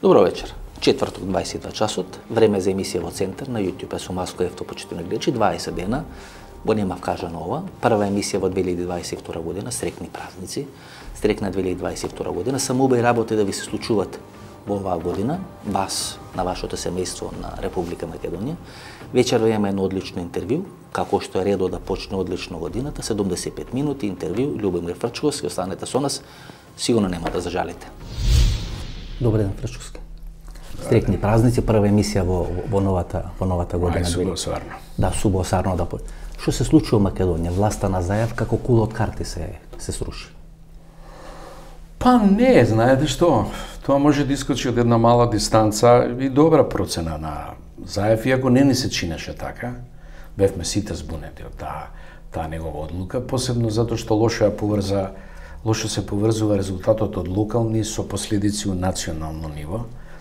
Добро вечер. Четврток 22 часот, време за емисија во Центар на YouTube е со Маско Ефто, почитувани гледачи, 20 дена. Го немав кажа нова. Прва емисија во 2022 година, срекни празници. Срекна 2022 година. Само убави работи да ви се случуваат во оваа година, вас, на вашето семејство на Република Македонија. Вечерва имаме едно одлично интервју, како што е редо да почне одлично годината, 75 минути интервју, Љубомир Фрчковски, останете со нас, сигурно нема да зажалите. Добар ден, Фрчковски. Стрекни празници, прва емисија во новата година. Субосарно. Да, субосарно да. Што се случи во Македонија? Власта на Заев како кула од карти се сруши. Па не, знаете што, тоа може да искочи од една мала дистанца и добра процена на Заев, иако не ни се чинеше така. Бевме сите збунети од таа негова одлука, посебно затоа што лошо се поврзува резултатот од локални со последици у национално ниво.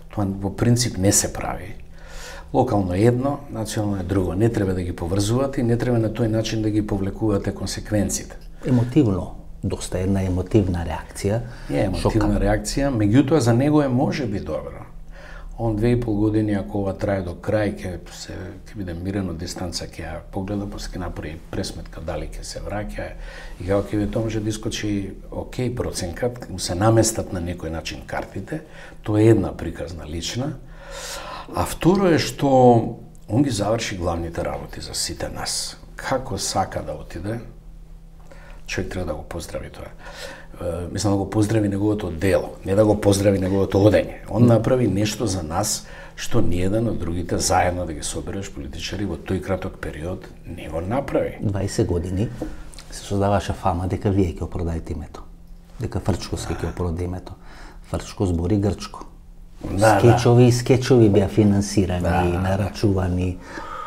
Тоа во принцип не се прави. Локално е едно, национално е друго. Не треба да ги поврзувате и не треба на тој начин да ги повлекувате консеквенците. Емотивно, доста една емотивна реакција. Е емотивна реакција, меѓутоа за него е можеби добро. Он 2,5 години, ако ова трае до крај, ќе биде мирен од дистанца, ќе ја погледа, после ќе направи пресметка дали ќе се враќа и како ќе тоа може да искочи окей проценкат, му се наместат на некој начин картите. Тоа е една приказна лична. А второ е што он ги заврши главните работи за сите нас. Како сака да отиде, човек треба да го поздрави тоа. Мислам да го поздрави неговото дело, не да го поздрави неговото одење. Он направи нешто за нас што ниеден од другите заедно да ги собереш политичари во тој краток период не го направи. 20 години се создаваше фама дека вие ќе опродаете името. Дека Фрчковски ќе опродаде името. Фрчко збори грчко. Скечови беа финансирани, нарачувани,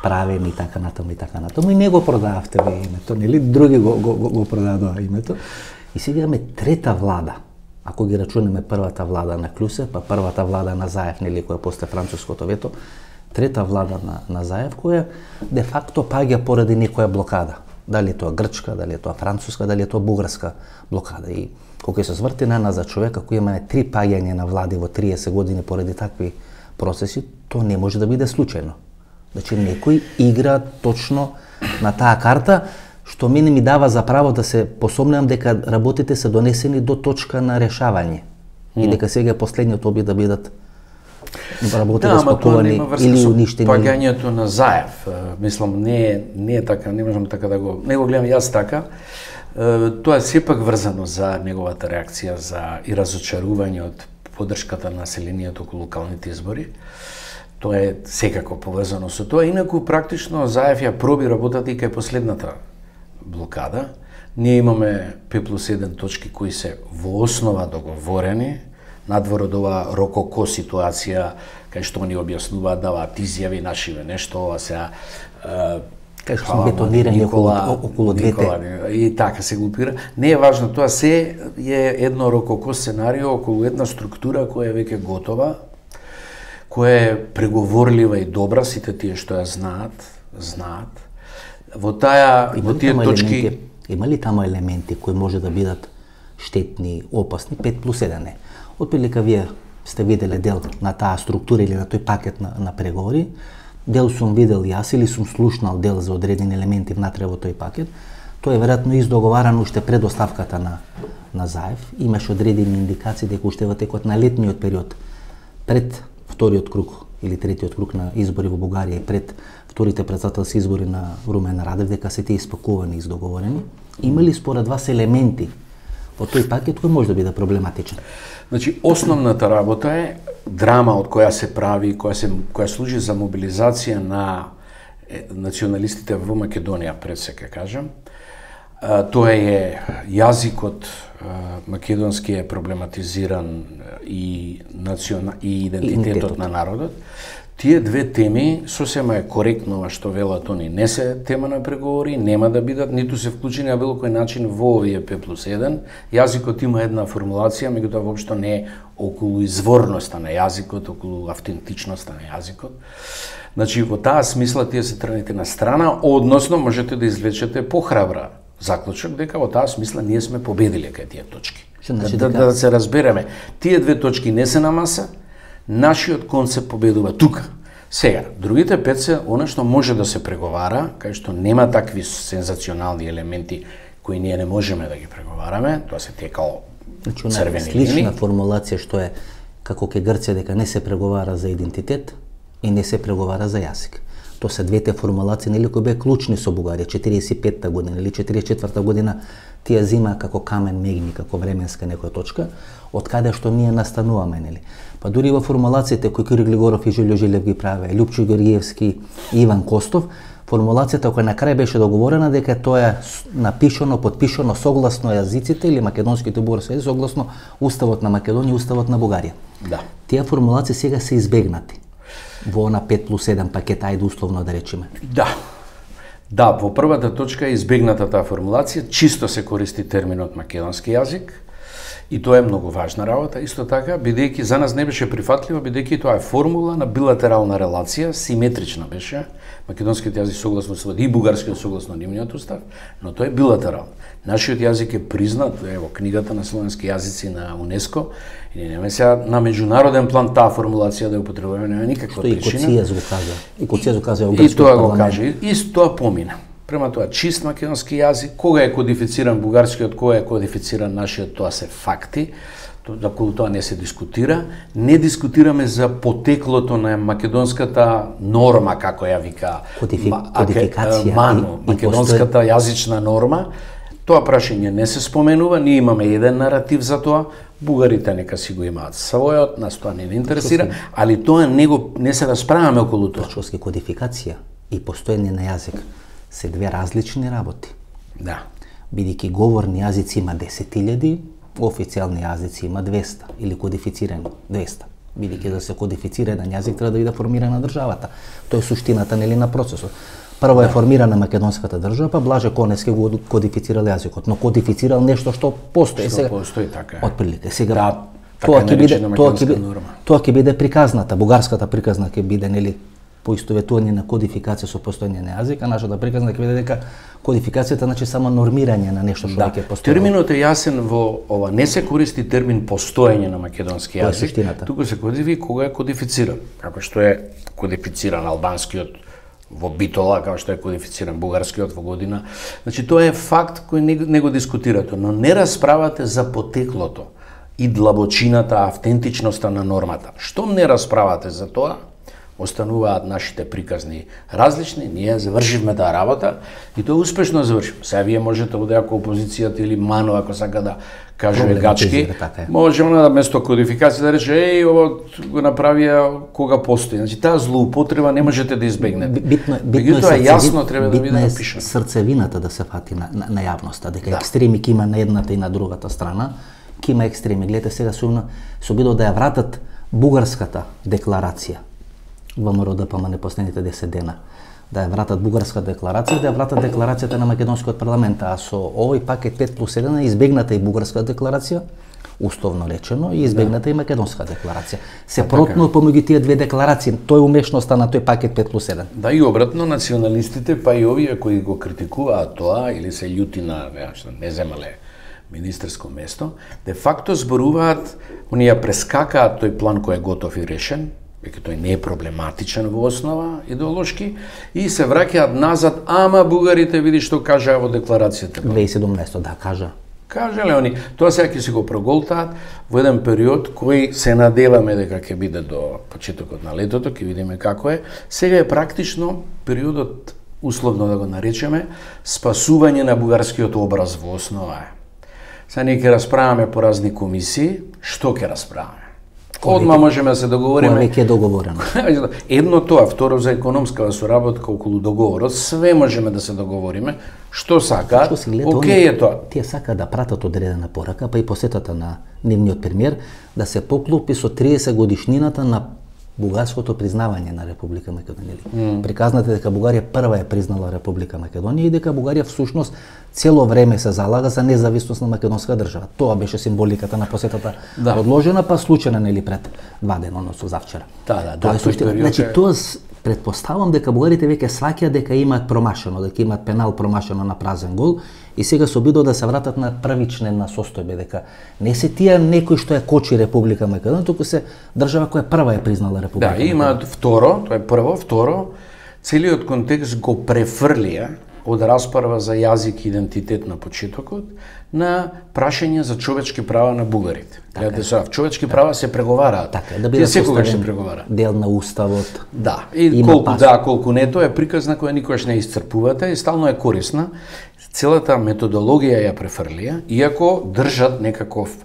правени и така натаму и така натаму. И не го продававте вие името, нели? Други го продадоа името. И сега имаме трета влада. Ако ги рачунеме првата влада на Клюсе, па првата влада на Заев, нели, која после француското вето, трета влада на Заев, која де факто паѓа поради некоја блокада. Дали е тоа грчка, дали е тоа француска, дали е тоа бугарска блокада. И кога се сврти на нас за човек, ако имаме 3 паѓања на влади во 30 години поради такви процеси, тоа не може да биде случајно. Значи, некој игра точно на таа карта, што мене ми дава за право да се посомнувам дека работите се донесени до точка на решавање. И дека сега е последниот обид да бидат работите спакувани или уништени. Паѓањето на Заев, мислам, не е така, не можам така да го... Не го гледам јас така. Тоа е сепак врзано за неговата реакција и разочарување од поддршката на населението околу локалните избори. Тоа е секако поврзано со тоа. Инаку, практично, Заев ја проби работата и кај последната блокада. Ние имаме 5+1 точки кои се во основа договорени, надвор од оваа рококо ситуација, кај што ни објаснуваат, даваат изјави, нашиве нешто, ова сега... Кај што се бетонирани околу двете. И така се глупира. Не е важно, тоа се е едно рококо сценарио околу една структура која е веќе готова, која е преговорлива и добра, сите тие што ја знаат. Во тие точки... Има ли тамо елементи кои може да бидат штетни, опасни? 5+1 е. Отприлика вие сте виделе дел на таа структура или на тој пакет на преговори. Дел сум видел јас или сум слушнал дел за одредени елементи внатре во тој пакет. Тоа е веројатно издоговарано уште пред оставката на Заев. Имаше одредени индикации дека уште во текот на летниот период, пред вториот круг или третиот круг на избори во Бугарија и пред вторите претседателски избори на Румен Радев, дека се тие испакувани и издоговорени. Има ли според вас елементи во тој пакет кој може да биде проблематичен? Значи, основната работа е драма од која се прави, која служи за мобилизација на националистите во Македонија, пред се ке кажам. Тоа е јазикот македонски е проблематизиран и идентитетот на народот. Тие две теми сосема е коректно ова што велат они не се тема на преговори, нема да бидат, ниту се вклучени на било кој начин во овие 5+1. Јазикот има една формулација, меѓутоа воопшто не е околу изворноста на јазикот, околу автентичноста на јазикот. Значи, во таа смисла тие се тргнете на страна, односно можете да извлечете похрабра заклучок дека во таа смисла ние сме победиле кај тие точки. Да се разбереме, тие две точки не се на маса, Нашиот концепт победува тука. Сега, другите 5 се она што може да се преговара, кај што нема такви сензационални елементи кои ние не можеме да ги преговараме, тоа се текало црвени слична линии. формулација што е како ке Грција дека не се преговара за идентитет и не се преговара за јазик. Тоа се двете формулации нели кои беа клучни со Бугарија 45-та година или 44-та година, тие зима како камен мегни, како временска некоја точка, од каде што ние настануваме, нели. Па дури во формулациите кои Кирил Григоров и Жилјо Жилев ги праве, Лјупчо Георгиевски и Иван Костов, формулацијата која на крај беше договорена дека тоа е напишано, подпишано согласно јазиците или македонските бугарски јазици, согласно Уставот на Македонија и Уставот на Бугарија. Да. Тие формулации сега се избегнати во на 5+1 пакет, ајде условно да речеме. Да. Да, во првата точка е избегната таа формулација, чисто се користи терминот македонски јазик, и тоа е многу важна работа, исто така, бидејќи за нас не беше прифатливо, бидејќи тоа е формула на билатерална релација, симетрична беше, македонскиот јазик согласно и бугарскиот согласно нивниот устав, но тоа е билатерално. Нашиот јазик е признат, во книгата на словенски јазици на УНЕСКО, и нема сега на меѓународен план таа формулација да ја употребуваме, нема никаква причина. И Коцијас го кажа. И Коцијас го кажа во И грчкиот тоа го парламент. каже, и тоа помина. Према тоа, чист македонски јазик, кога е кодифициран бугарскиот, кога е кодифициран нашиот, тоа се факти, доколку тоа не се дискутира. Не дискутираме за потеклото на македонската норма, како ја вика Кодификација МАНО, македонската јазична норма. Тоа прашање не се споменува, ние имаме еден наратив за тоа, бугарите нека си го имаат својот, нас тоа не интересира, али тоа не се расправаме околу тоа. Прашоски кодификација и постоење на јазик се две различни работи. Да. Бидејќи говорни јазици има 10.000, официјални јазици има 200 или кодифицирани 200. Бидејќи да се кодифицира еден јазик треба да биде формирана државата. Тоа е суштината нели на процесот. Прво е формирана македонската држава, па Блаже Коневски го кодифицирал јазикот, но кодифицирал нешто што постои Што сега. постои така. Отприлика сега. Да, Тоа така наречена норма. Тоа ќе биде приказната, бугарската приказна ќе биде нели поистоветување на кодификација со постоење на јазик, а нашата приказна ќе биде дека кодификацијата значи само нормирање на нешто што веќе постои. Терминот е јасен во ова, не се користи термин постоење на македонски Тоа е јазик, суштината. туку се користи кога е кодифициран, како што е кодифициран албанскиот во Битола, како што е кодифициран бугарскиот во година. Значи тоа е факт кој не го дискутирате, но не расправате за потеклото и длабочината, автентичноста на нормата. Штом не расправате за тоа, остануваат нашите приказни различни, ние завршивме таа работа и тоа успешно завршивме. Сега вие можете овде ако опозицијата или МАНО ако сака да каже гачки, може она да место кодификација да рече еј ово го направија кога постои. Значи таа злоупотреба не можете да избегнете. Битно е јасно треба да биде напишано. Срцевината да се фати на јавноста, дека екстреми ќе има на едната и на другата страна, ќе има екстреми. Гледате сега се обидува да ја вратат бугарската декларација во МРОДПМ на последните 10 дена, да ја вратат бугарска декларација, да ја вратат декларацијата на македонскиот парламент, а со овој пакет 5+1 е избегната и бугарска декларација, уставно речено, и избегната и македонска декларација. Се протно помеѓу тие две декларации, тој умешноста на тој пакет 5+1. Да, и обратно, националистите, па и овие кои го критикуваат тоа, или се љути на не земале министерско место, де факто зборуваат, оние прескакаат тој план кој е готов и решен, веќе тој не е проблематичен во основа идеолошки, и се враќаат назад, ама бугарите види што кажаа во декларацијата. 2017 да кажа. Кажале они, тоа сега ќе се го проголтаат во еден период кој се надеваме дека ќе биде до почетокот на летото, ќе видиме како е. Сега е практично периодот, условно да го наречеме, спасување на бугарскиот образ во основа е. Сега ние ќе расправаме по разни комисии, што ќе расправаме? Одма можеме да се договориме. Кој веќе е договорено. Едно тоа, второ за економска соработка околу договорот, све можеме да се договориме, што сакаат, окей е тоа. Тие сакаат да пратат одредена порака, па и посетата на нивниот премиер, да се поклопи со 30 годишнината на бугарското признавање на Република Македонија. Приказнате дека Бугарија прва е признала Република Македонија и дека Бугарија всушност цело време се залага за независност на македонска држава. Тоа беше символиката на посетата одложена, па случајна нели пред 2 дена, односно завчера. Да, тоа е суштина. Значи Предпоставам дека бугарите веќе сваќаат дека имаат промашено, дека имаат пенал промашено на празен гол и сега се обидува да се вратат на првична состојба, дека не се тие некој што ја кочи Република Македонија, туку се држава која прва ја признала Република Македонија. Да, имаат второ, тоа е прво, второ, целиот контекст го префрлија од расправа за јазик и идентитет на почетокот на прашање за човечки права на бугарите. Гледате сега, човечки права се преговараат. Така, да биде секогаш се преговара. Дел на уставот. Да, и колку не, тоа е приказна која никогаш не исцрпувате и стално е корисна. Целата методологија ја префрлија, иако држат некаков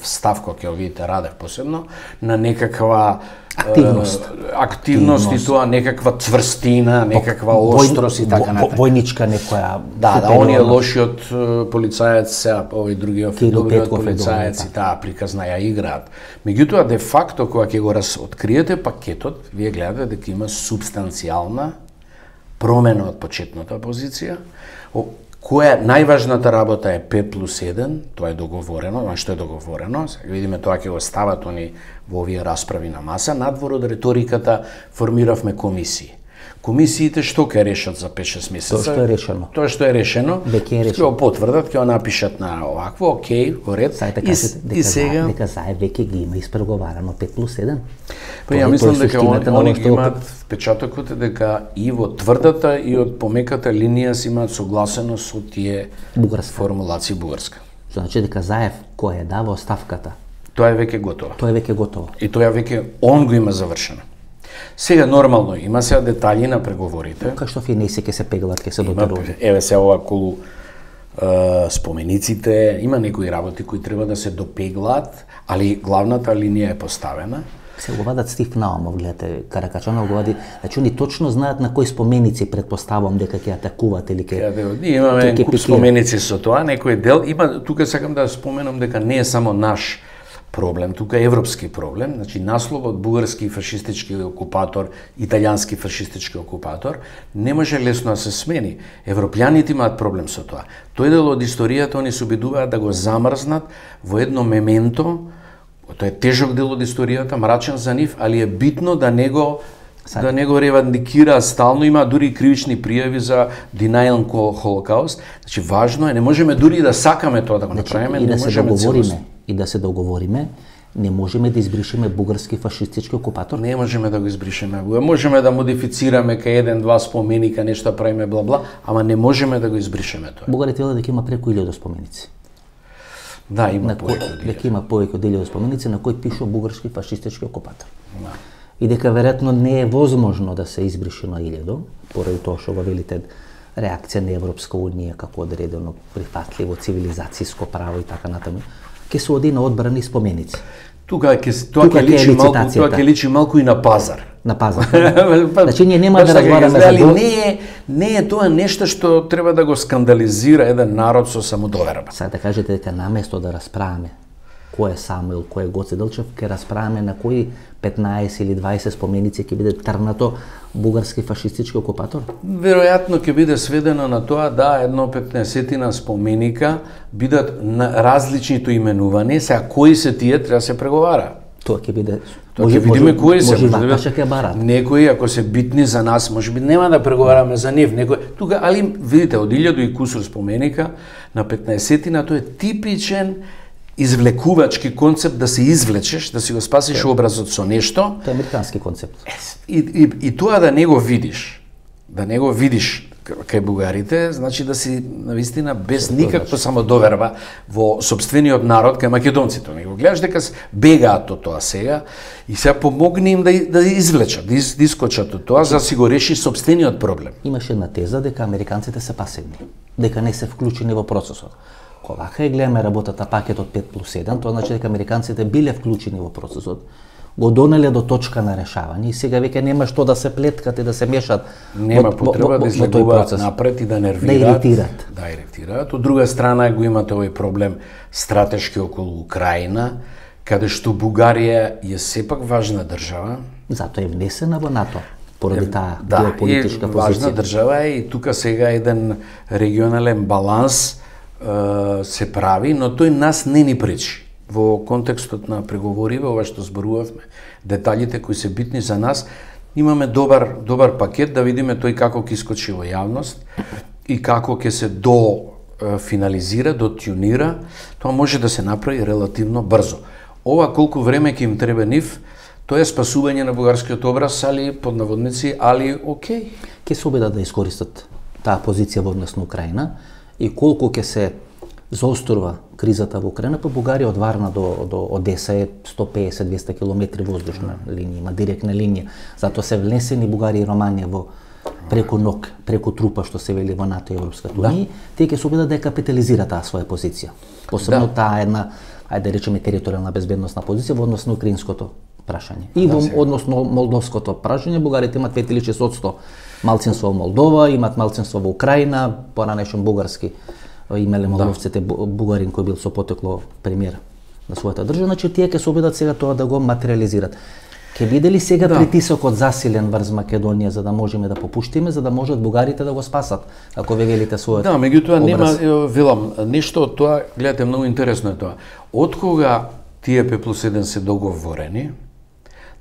став, кој ќе видите Радев посебно, на некаква активност и тоа некаква цврстина, некаква острост и така натаму. Војничка некоја. Да, оние лошиот полицаец, сега овој другиот добриот полицаец и таа приказна ја играат. Меѓутоа де факто кога ќе го откриете пакетот, вие гледате дека има субстанцијална промена од почетната позиција. Која најважната работа е 5+1, тоа е договорено, што е договорено, сега видиме тоа ќе го стават они во овие расправи на маса, надвор од риториката формиравме комисии. Комисиите што ќе решат за 5-6 месеца? Тоа што е решено. Тоа што е решено, ќе го потврдат, ќе го напишат на овакво, окей, во ред. И сега дека заедно веќе ги има испреговарано 5+1. Па ја мислам дека они ги имаат впечатокот дека и во тврдата и од помеката линија си имаат согласено со тие формулации бугарска. Значи дека Заев кој е дава оставката? Тоа е веќе готово. Тоа е веќе готово. И тоа веќе он го има завршено. Сега нормално има сега детали на преговорите. Кај што финеси ќе се пеглат, ќе се дотеруваат. Еве се ова околу спомениците, има некои работи кои треба да се допеглат, али главната линија е поставена. Се го вадат Стив Наумов, гледате, Каракачанов го вади, значи они точно знаат на кои споменици предпоставам дека ќе атакуваат или ќе. Имаме куп споменици со тоа, некој дел има, тука сакам да споменам дека не е само наш проблем, тука е европски проблем, значи насловот бугарски фашистички окупатор, италијански фашистички окупатор, не може лесно да се смени. Европјаните имаат проблем со тоа. Тој дел од историјата они се обидуваат да го замрзнат во едно мементо. Тоа е тежок дел од историјата, мрачен за нив, али е битно да не го ревандикира стално, има дури кривични пријави за denial Holocaust. Значи важно е, не можеме дури да сакаме тоа да го направиме, не можеме целосно. И да се договориме, не можеме да избришеме бугарски фашистички окупатор. Не можеме да го избришеме. Можеме да модифицираме кај 1-2 споменика, нешто правиме бла-бла, ама не можеме да го избришеме тоа. Бугарите велат дека има преку 1000 споменици. Да, има повеќе од 1000. Дека има повеќе од 1000 споменици на кои пише бугарски фашистички окупатор. Да. И дека веројатно не е возможно да се избрише на 1000, поради тоа што го велите реакција на Европска унија како одредено прифатливо цивилизацијско право и така натаму, ќе се оди на одбрани споменици. Тоа ќе личи малку и на пазар. На пазар. Значи ние нема да разговараме за не е тоа нешто што треба да го скандализира еден народ со самодоверба. Сега да кажете дека наместо да расправаме кој е Самуил, кој е Гоце Делчев, ќе расправаме на кои 15 или 20 споменици ќе биде трнато бугарски фашистички окупатор? Веројатно ќе биде сведено на тоа да едно 15-тина споменика бидат на различното именување, сега кои се тие треба се преговара. Тоа ќе биде. Ќе видиме кои се. Некои ако се битни за нас, можеби нема да преговараме за нив. Тука, али видите, од 1000 и кусур споменика на 15-тина тоа е типичен извлекувачки концепт да се извлечеш, да си го спасиш образот со нешто. Тоа е американски концепт. И тоа да не го видиш кај бугарите, значи да си навистина без никаква самодоверба во сопствениот народ кај македонците. Не го гледаш дека бегаат од тоа сега и сега помогни им да извлечат, да искочат од тоа за да си го реши сопствениот проблем. Имаше една теза дека американците се пасивни, дека не се вклучени во процесот. Кога ја гледаме работата пакетот 5+1, тоа значи дека американците биле вклучени во процесот, го донеле до точка на решавање и сега веќе нема што да се плеткат и да се мешат. Нема потреба да излегуваат напред и да нервираат, да иритираат. Од друга страна го имате овој проблем стратешки околу Украина, каде што Бугарија е сепак важна држава. Затоа е внесена во НАТО. Поради таа геополитичка позиција. Важна држава е и тука сега еден регионален баланс се прави, но тој нас не ни пречи. Во контекстот на преговориве, ова што зборувавме, деталите кои се битни за нас, имаме добар пакет да видиме тој како ќе искочи во јавност и како ќе се финализира, тюнира, тоа може да се направи релативно брзо. Ова колку време ќе им треба нив, тоа е спасување на бугарскиот образ, али под наводници, али окей. Ќе се обидат да искористат таа позиција во однос на Украина и колку ќе се заострува кризата во Украина, па Бугарија од Варна до Одеса е 150-200 километри воздушна линија, има директна линија. Затоа се внесени Бугарија и Романија во преку ног, преку трупа што се вели во НАТО и Европската унија, тие ќе се обидат да ја капитализира таа своја позиција. Посебно таа една, ајде да речеме, територијална безбедносна позиција во однос на украинското прашање. И во однос на молдовското прашање, бугарите имат 5 или 6% малцинство во Молдова, имат малцинство во Украина, поранешен бугарски имеле молдовците бугарин кој бил со потекло премиер на својата држава, значи тие ќе се обидат сега тоа да го материализират. Ќе биде ли сега притисокот засилен врз Македонија за да можеме да попуштиме, за да можат бугарите да го спасат, ако ве велите својот? Да, меѓутоа нема, велам, нешто од тоа, гледате, многу интересно е тоа. Откога тие П+1 се договорени,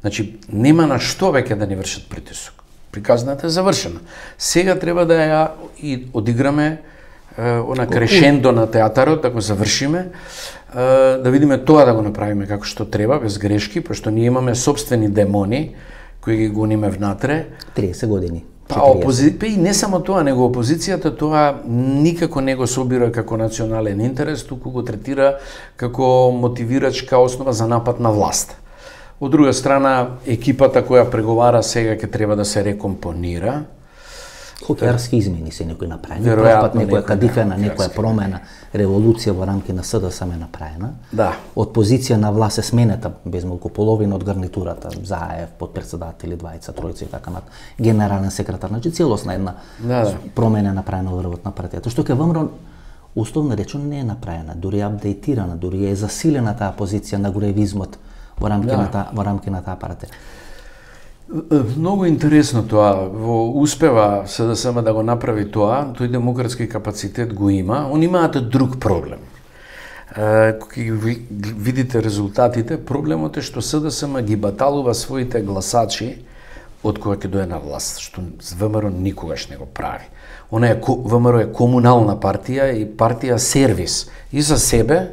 значи нема на што веќе да ни вршат притисок. Приказната е завршена. Сега треба да ја и одиграме она крешендо на театарот, да го завршиме, да видиме тоа да го направиме како што треба, без грешки, пошто ние имаме собствени демони кои ги гониме внатре. 30 години. Па и не само тоа, него опозицијата тоа никако не го собира како национален интерес, туку го третира како мотивирачка основа за напад на власт. Од друга страна, екипата која преговара сега ќе треба да се рекомпонира. Хокеарски измени се некои направени, првпат некоја кадифена, некоја промена, револуција во рамки на СДСМ е направена. Да. Од позиција на власт е сменета без малку половина од гарнитурата, Заев, подпредседатели, двајца, тројца и така нат, генерален секретар, значи целосна една промена направена во врвот на партијата. Што ке ВМРО условно речено не е направена, дури е апдейтирана, дури е засилена таа позиција на гуревизмот во рамки на таа партија. Многу интересно тоа, успева СДСМ да го направи тоа, тој демократски капацитет го има, он имаат друг проблем. Кога видите резултатите, проблемот е што СДСМ ги баталува своите гласачи од кога ќе дое на власт, што ВМРО никогаш не го прави. ВМРО е комунална партија и партија сервис и за себе,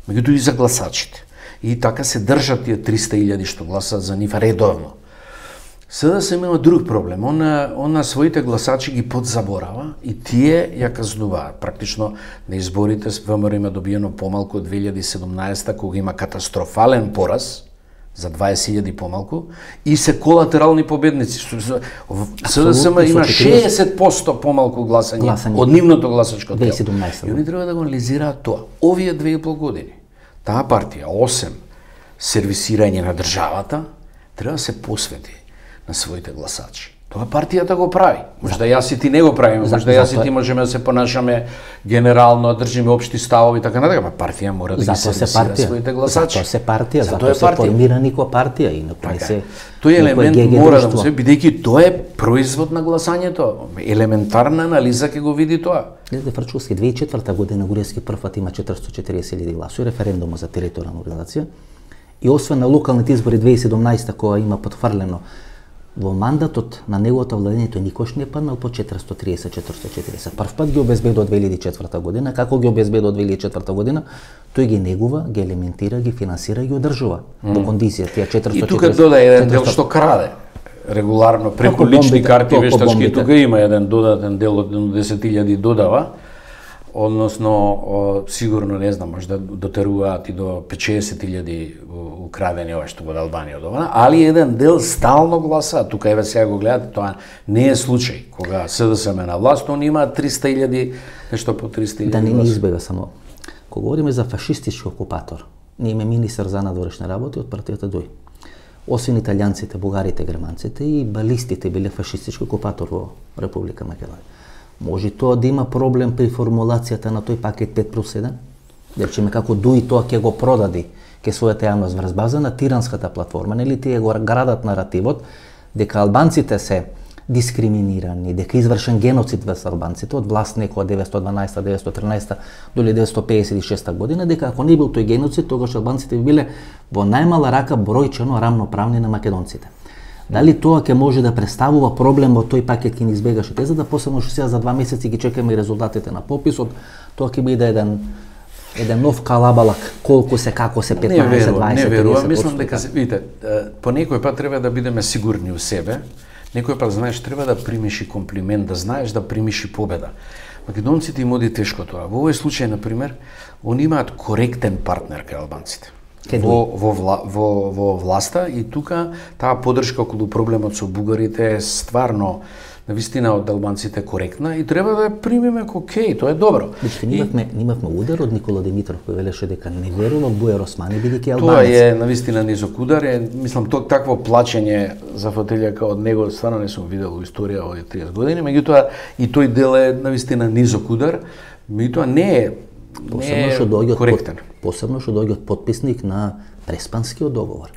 меѓутоа и за гласачите. И така се држат тие 300.000 што гласат за нив редовно. СДСМ има друг проблем. Он на своите гласачи ги подзаборава и тие ја казнуваат. Практично на изборите ВМРО има добиено помалку од 2017 кога има катастрофален пораз за 20.000 помалку и се колатерални победници. СДСМ има 60% помалку гласање од нивното гласачко тело. И они треба да го анализираат тоа. Овие 2,5 години таа партија, 8 сервисирање на државата, треба да се посвети на своите гласачи. Тоа партијата го прави. Можда јас и ти не го правиме, можда јас и ти можеме да се понашаме генерално, да држиме општи ставови така натака, па партија мора да ги сервисира своите гласачи. Затоа се партија, затоа се формира никоја партија и не се. Тој елемент мора да се бидејќи тоа е производ на гласањето. Елементарна анализа ќе го види тоа. Гледате Фрачковски 2004 година Груевски првпат има 440.000 гласови, референдумот за територијална организација. И освен на локалните избори 2017 кога има потврлено во мандатот на неговото владење тој никош не паднал по 430-440. Првпат ги обезбедува од 2004 година, како ги обезбедува од 2004 година, тој ги негува, ги елементира, ги финансира и ги одржува во кондиција тие 440. И тука дода еден дел што краде регуларно преку лични карти вештачки, тука има еден додатен дел од 10.000 додава. Односно, сигурно, не знам, може да дотеруваат и до 50.000 украдени ова што го од Албанија од ова, али еден дел стално гласа, тука еве сега го гледате, тоа не е случај. Кога СДСМ на власт, они имаат 300.000, нешто по 300.000 да не ни избега само. Кога говориме за фашистички окупатор, ние имаме министер за надворешни работи од партијата ДОИ. Освен италијанците, бугарите, германците и балистите биле фашистички окупатор во Република Македонија. Може тоа да има проблем при формулацијата на тој пакет 5+1? Да речеме како ДОИ тоа ќе го продади ке својата јавност врз база на тиранската платформа, нели тие го градат наративот дека албанците се дискриминирани, дека извршен геноцид врз албанците од власт некоја 912-913 до 1956 година, дека ако не бил тој геноцид, тогаш албанците би биле во најмала рака бројчено рамноправни на македонците. Дали тоа ќе може да представува проблем во тој пакет ќе ни избегаше тезата, посебно што сега за 2 месеци ги чекаме и резултатите на пописот, тоа ќе биде еден нов калабалак, колку се, како се, 15, 20, не 30%. верувам, мислам дека видите, по некој пат треба да бидеме сигурни у себе, некој пат знаеш треба да примиш и комплимент, да знаеш да примиш и победа. Македонците им оди тешко тоа. Во овој случај на пример, они имаат коректен партнер кај албанците. Во власта и тука таа подршка околу проблемот со бугарите е стварно навистина од албанците коректна и треба да ја примиме како окей, тоа е добро. Имавме удар од Никола Димитров кој велеше дека не верува Бујар Османи бидејќи албанец. Тоа е навистина низок удар, мислам такво плачење за фотелјака од него стварно не сум видел во историја од 30 години, меѓутоа и тој дел е навистина низок удар, меѓутоа не е коректен. Посебно што доаѓа од потписник на Преспанскиот договор.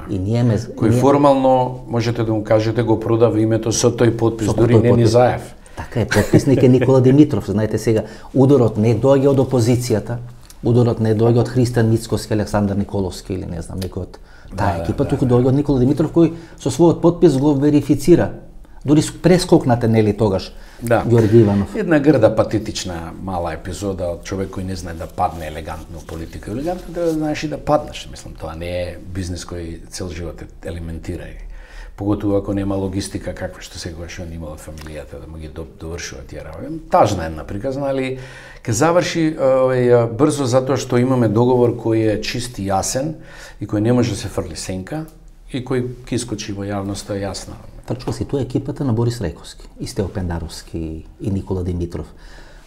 И кој формално можете да му кажете го продава името со тој подпис, дури не Низаев. Така е, потписник е Никола Димитров. Знаете сега, ударот не доаѓа од опозицијата, ударот не доаѓа од Христијан Мицкоски, Александар Николовски или не знам некој од таа екипа, туку доаѓа од Никола Димитров кој со својот подпис го верифицира. Дури прескокнате нели тогаш Ѓорги Иванов. Една грда патетична мала епизода од човек кој не знае да падне елегантно политика. Елегантно треба да знаеш и да паднеш. Мислам, тоа не е бизнис кој цел живот елементира. Поготово ако нема логистика каква што секогаш он имал од фамилијата да му ги довршува тие работи. Тажна една приказна, али ќе заврши брзо затоа што имаме договор кој е чист и јасен и кој не може да се фрли сенка и кој ќе искочи во јавноста јасна. Точно си, тоа е екипата на Борис Рајковски, и Стео Пендаровски и Никола Димитров.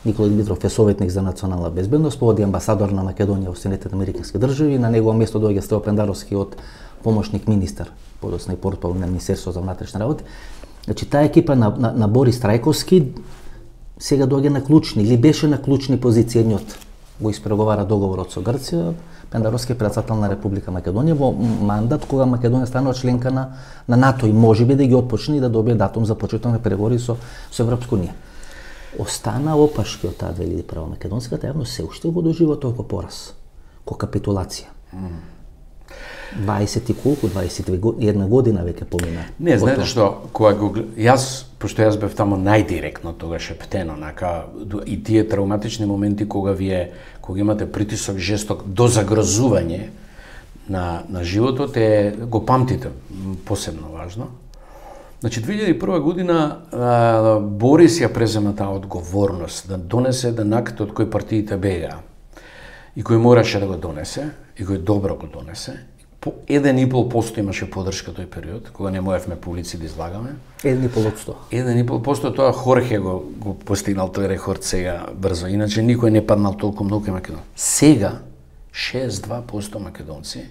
Никола Димитров е советник за национална безбедност, поводи амбасадор на Македонија во Соединетите американски држави, на негово место доаѓа Стео Пендаровски од помошник министар, подосна и портпал на Министерството за внатрешни работи. Значи таа екипа на Борис Рајковски сега доаѓа на клучни, или беше на клучни позиции, едниот го испреговара договорот со Грција, Пендаровски е председател на Република Македонија во мандат кога Македонија станува членка на НАТО и можеби да ги отпочне и да добие датум за почеток на преговори со Европска унија. Остана опашки од таа 2001 македонската јавност се уште го доживува толку пораз, ко капитулација. 20 и колку, 21 година веќе помина. Не, знаете што, кога го пошто јас бев тамо најдиректно тогаш ептено, и тие травматични моменти кога кога имате притисок жесток до загрозување на животот, го памтите, посебно важно. Значи, 2001 година Борис ја презема таа одговорност да донесе денакот од кој партиите бега и кој мораше да го донесе, и кој добро го донесе. По 1,5% имаше поддршка тој период, кога не можевме по улици да излагаме. 1,5%. 1,5%, тоа Хорхе го постигнал тој рекорд сега брзо, иначе никој не паднал толку многу кај Македонија. Сега 62% македонци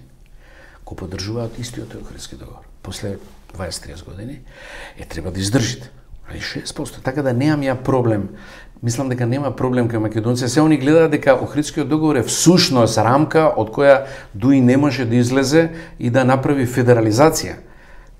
го поддржуваат истиот тој Охридски договор. После 20-30 години треба да издржите. Али 6%, така да немам ја проблем. Мислам дека нема проблем кај македонци. Се они гледаат дека Охридскиот договор е всушност рамка од која дуи не може да излезе и да направи федерализација.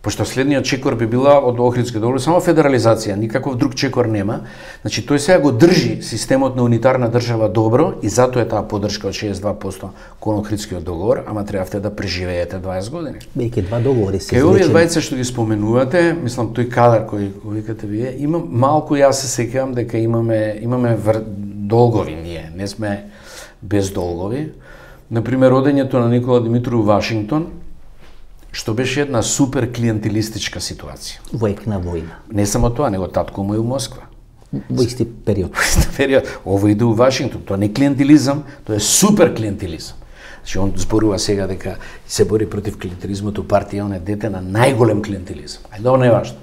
Пошто следниот чекор би била од Охридскиот договор само федерализација, никаков друг чекор нема. Значи тој сега го држи системот на унитарна држава добро и затоа е таа поддршка од 62% кон Охридскиот договор, ама требавте да преживеете 20 години. Бејќи два договори се изречени. Кај овие двајца што ги споменувате, мислам тој кадар кој го викате вие, има малку, јас се сеќавам дека имаме долгови ние, не сме без долгови. Например, одењето на Никола Димитров во Вашингтон, што беше една супер клиентелистичка ситуација. Војкна војна. Не само тоа, него татко му е у Москва. Во исти период. Ово иде у Вашингтон, тоа не е клиентелизам, тоа е супер клиентелизам. Значи он зборува сега дека се бори против клиентелизмот у партија, он е дете на најголем клиентелизам. Ајде, тоа не е важно.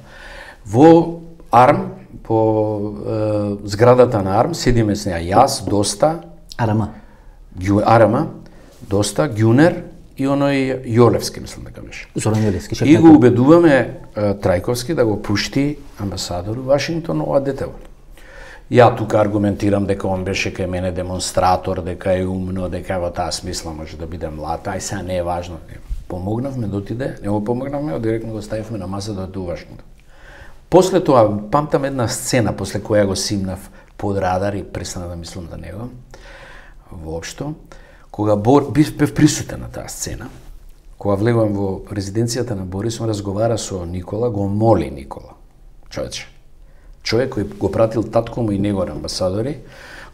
Во АРМ, по зградата на АРМ, седиме с неа јас, Доста, Арама, Доста, Ѓунер и оној Јолевски, мислам дека беше. Зоран Јолевски. И го убедуваме Трајковски да го пушти амбасадор у Вашингтон ова детево. Ја тука аргументирам дека он беше кај мене демонстратор, дека е умно, дека во таа смисла може да биде млад, ај сега не е важно. Помогнавме да отиде, не го помогнавме, директно го ставивме на маса да оди у Вашингтон. После тоа, памтам една сцена после која го симнав под радар и престана да мислам за него, воопшто, кога бев присутен на таа сцена, кога влегувам во резиденцијата на Борис, он разговара со Никола, го моли Никола. Човек кој го пратил татко му и негор амбасадори,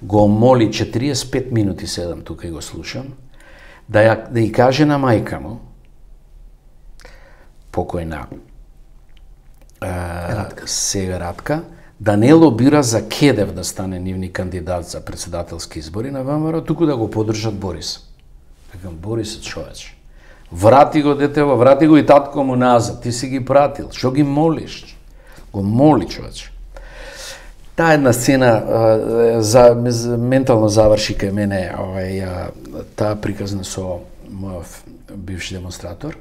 го моли 45 минути седам тука и го слушам, да ја каже на мајка му, покојна сега Радка, да не лобира за Кедев да стане нивни кандидат за председателски избори на ВМРО, туку да го поддржат Борис. Викам, Борис е човече. Врати го детево, врати го и татко му назад. Ти си ги пратил. Што ги молиш? Го моли човече. Таа една сцена ментално заврши кај мене таа приказна со мојот бивши демонстратор.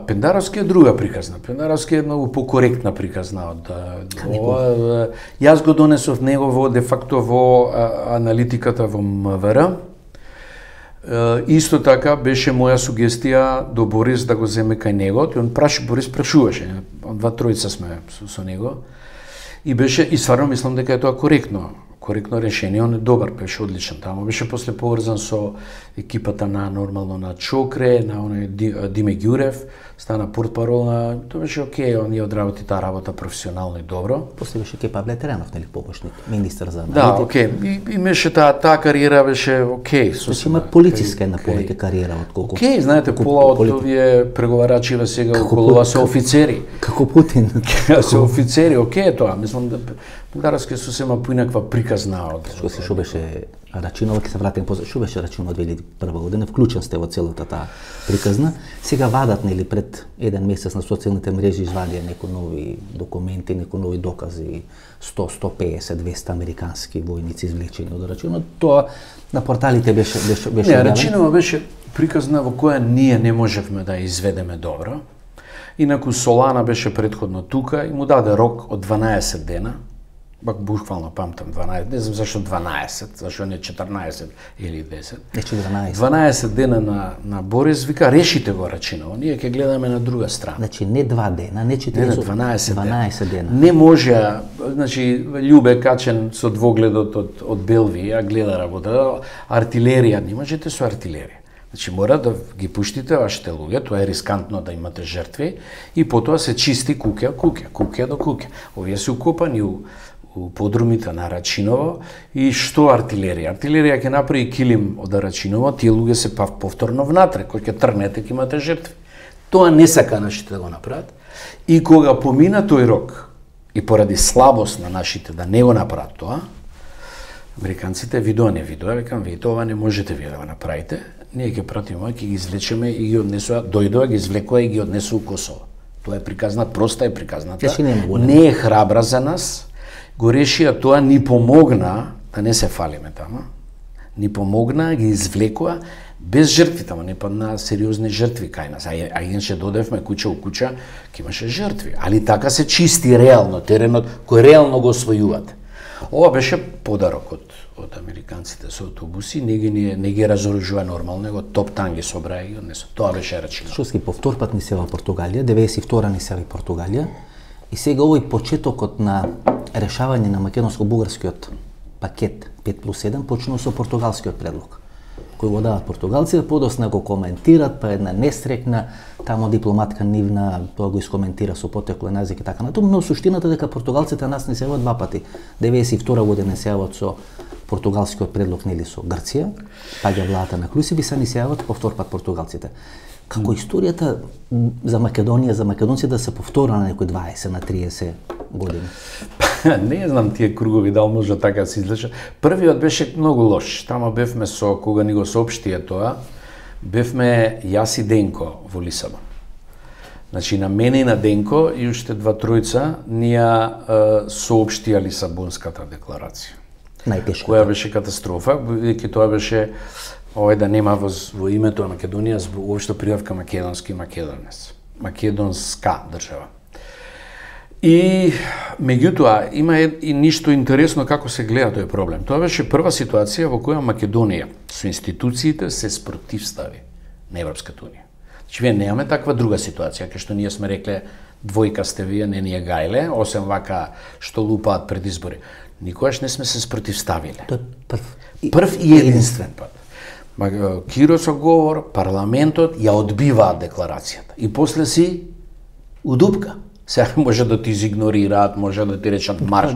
Пендаровски е друга приказна. Пендаровски е многу покоректна приказна од јас го донесов него де факто во аналитиката во МВР. Исто така беше моја сугестија до Борис да го земе кај него. Борис прашуваше. Два тројца сме со него. И стварно мислам дека е тоа коректно решение, он е добар, беше одличен таму. Беше после поврзан со екипата нормално на Чокре, на оној Диме Ѓурев, стана портпарол на, тоа беше окей, он ја одработи таа работа професионално и добро. После беше ке Павле Теренов, нели, помошник, министер за аналитика. Да, окей. И беше таа кариера беше окей. Значи има политичка една повеќе кариера отколку. Окей, знаете, пола од овие преговарачиве сега околува со офицери. Како Путин. Со офицери, окей тоа. Мислам да Пендаровски сосема поинаква приказна од што беше Рачинова, ќе се вратим позад. Што беше Рачинова 2001 година? Вклучен сте во целата таа приказна. Сега вадат, нели, пред еден месец на социјалните мрежи извадија некои нови документи, некои нови докази, 100, 150, 200 американски војници извлечени од Рачинова. Тоа на порталите беше Не, Рачинова беше приказна во која ние не можевме да изведеме добро. Инаку Солана беше претходно тука и му даде рок од 12 дена. Буквално памтам 12, не знам зашто 12, зашто не 14 или 10. Нече 12. 12 дена на Борис, вика, решите го Рачиново, ние ќе гледаме на друга страна. Значи не 2 дена, не 40, 12 дена. Не може, значи Љубе качен со двогледот од Белвија, гледа работа, артилерија, не можете со артилерија. Значи мора да ги пуштите вашите луѓе, тоа е рискантно да имате жртви и потоа се чисти куќа до куќа. Овие се укопани у подрумите на Рачиново и што артилерија? Артилерија ќе направи килим од Рачиново, тие луѓе се повторно внатре, кој ќе тргнете ќе имате жртви. Тоа не сака нашите да го направат. И кога помина тој рок и поради слабост на нашите да не го направат тоа, американците видоа, викам, вие ова не можете вие да го направите, ние ќе пратиме, ќе ги извлечеме и ги однесува, дојдоа, ги извлекоа и ги однесува у Косово. Тоа е приказна, проста е приказната, не е храбра за нас, го решија тоа, ни помогна, да не се фалиме тама, ни помогна, ги извлекоа, без жртви тама, не падна сериозни жртви кај нас, а иначе додевме куќа у куќа, ќе имаше жртви, али така се чисти реално теренот, кој реално го освојувате. Ова беше подарок од американците со автобуси, не ги разоружува нормално, него топ-тан ги собра и однесо. Тоа беше Рачиново. Шоски повтор пат ни се во Португалија, 92-а ни се во Португалија, и сега овој почетокот на решавање на македонско-бугарскиот пакет 5+1 почнува со португалскиот предлог, кој го дават португалците, подосна го коментират, па една нестрекна, тамо дипломатка нивна, тоа го искоментира со потеклен јазик и така натаму, но суштината дека португалците нас не се јават два пати. 92 година се јават со португалскиот предлог, нели, со Грција, паѓа владата на Клусиби, се ни се јават повтор пат португалците. Како историјата за Македонија, за македонците да се повтора на некои 20 на 30 години? Не знам тие кругови дал може така се излеча. Првиот беше многу лош. Тама бевме со кога ни го соопштија тоа, бевме јас и Денко во Лисабон. Значи на мене и на Денко и уште два тројца ни ја соопштија Лисабонската декларација. Најтешко. Која беше катастрофа, бидејќи тоа беше да нема во името на Македонија уопшто прибавка македонски македонец. Македонска држава. И меѓутоа има и ништо интересно како се гледа тој проблем. Тоа беше прва ситуација во која Македонија со институциите се спротивстави на Европската унија. Значи вие немаме таква друга ситуација, кај што ние сме рекле двојка сте вие, не ние гајле, осем вака што лупаат пред избори. Никогаш не сме се спротивставиле. Тоа е прв и единствен пат. Киросов говор, парламентот ја одбиваат декларацијата. И после си удупка. Сега може да ти изигнорираат, може да ти речат марш.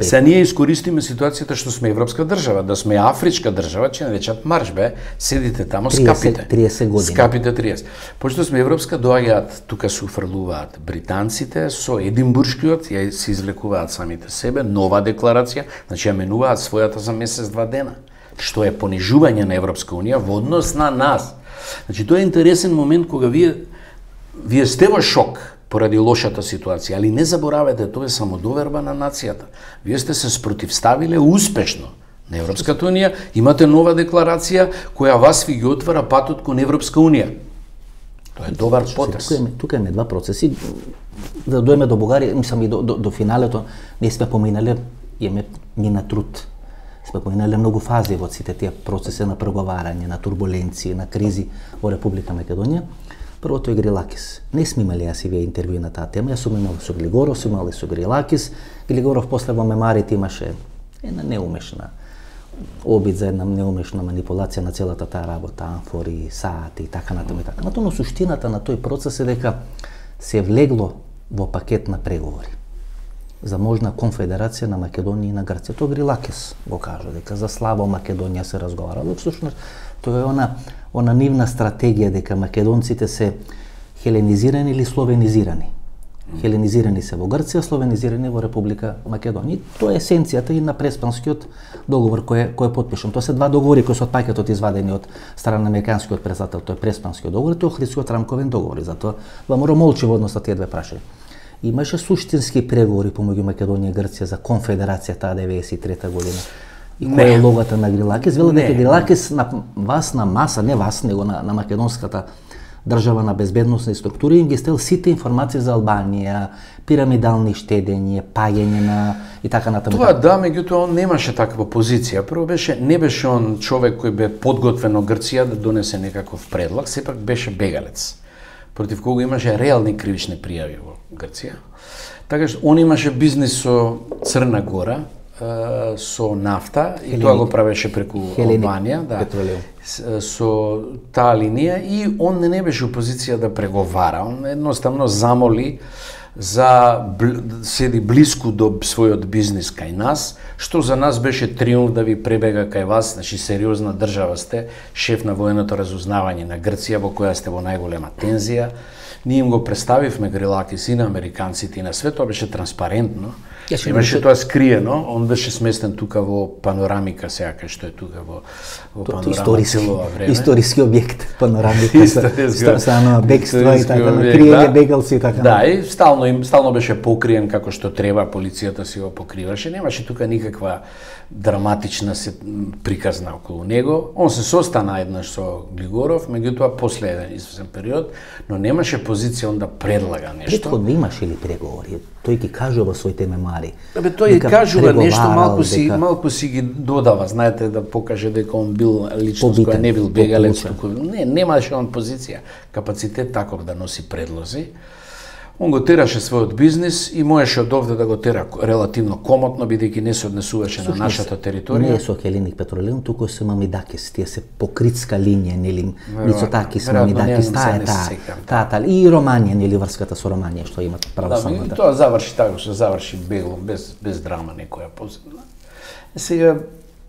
Сега ние искористиме ситуацијата што сме европска држава, да сме афричка држава, че не речат марш бе, седите тамо, скапите. 30 години. Скапите 30. Пошто сме европска, доаѓаат, тука се уфрлуваат британците, со Единбуршкиот, ја се извлекуваат самите себе, нова декларација, значи ја менуваат својата за месец-два дена, што е понижување на Европска Унија во однос на нас. Значи тоа е интересен момент кога вие сте во шок поради лошата ситуација, али не заборавајте, тоа е самодоверба на нацијата. Вие сте се спротивставиле успешно на Европската Унија, имате нова декларација која вас ви ги отвара патот кон Европска Унија. Тоа е добар потез. Тука имаме два процеси. Да дојме до Бугарија, мислам и до финалето, ние сме поминале, имаме мина труд. Сме поминале многу фази во сите тие процеси на преговарање, на турбуленции, на кризи во Република Македонија. Првото е Грилакис. Не сме имали јас и вие интервју на таа тема. Јас сум имал со Глигоров, сум имал и со Грилакис. Глигоров после во мемарите имаше една неумешна обид за една неумешна манипулација на целата таа работа, амфори, саати и така натаму и така. Но суштината на тој процес е дека се влегло во пакет на преговори за можна конфедерација на Македонија и на Грција. Тоа Грилакис го кажа, дека за славо Македонија се разговарало. Всушност, тоа е она нивна стратегија дека македонците се хеленизирани или словенизирани. Хеленизирани се во Грција, словенизирани во Република Македонија. Тоа е есенцијата и на Преспанскиот договор кој е потпишан. Тоа се два договори кои се од пакетот извадени од страна на американскиот председател, тоа е Преспанскиот договор и тоа Охридскиот рамковен договор. Затоа ВМРО молчи во однос на тие две прашања. Имаше суштински преговори помеѓу Македонија и Грција за конфедерација таа 93 година. И која е логата на Грилакис? Вела дека Грилакис на вас на маса, не вас, него на македонската држава на безбедносни структури им ги стел сите информации за Албанија, пирамидални штедење, паѓање на и така натаму. Тоа да, меѓутоа он немаше таква позиција. Прво не беше он човек кој бе подготвен од Грција да донесе некаков предлог, сепак беше бегалец, против кого имаше реални кривични пријави во Грција. Така што он имаше бизнис со Црна Гора, со нафта и тоа го правеше преку Албанија, со таа линија и он не беше у позиција да преговара, он едноставно замоли за седи блиску до својот бизнис кај нас, што за нас беше триумф да ви пребега кај вас, значи сериозна држава сте, шеф на военото разузнавање на Грција во која сте во најголема тензија. Ние им го представивме Грилакис и на американците и на свет, тоа беше транспарентно. Имаше тоа скриено, он беше сместен тука во панорамика сега кај што е тука во панорама целова време. Историски објект, панорамика со бегство и така, криење бегалци и така. Да, и стално беше покриен како што треба, полицијата си го покриваше, немаше тука никаква драматична приказна околу него. Он се состана еднаш со Глигоров, меѓутоа после еден известен период, но немаше позиција он да предлага нешто. Претходно имаше ли преговори? Тој ги кажува своите мемари. Тој кажува нешто, малку си ги додава, знаете, да покаже дека он бил личност која не бил бегалец. Не, немаше он позиција, капацитет таков да носи предлози. Он го тераше својот бизнис и можеше од овде да го тера релативно комотно, бидејќи не се однесуваше на нашата територија. Не е со Хелиник Петролеум, туку се Мамидакис, тие се покритска линија, нели, Мицотакис, Мамидакис, таа, и Романија, нели, врската со Романија, што имат православната. Да, тоа заврши така, што заврши бегло, без драма некоја посебна. Сега,